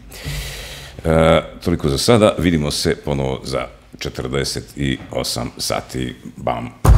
Speaker 1: E, toliko za sada, vidimo se ponovo za četrdeset osam sati. Bam!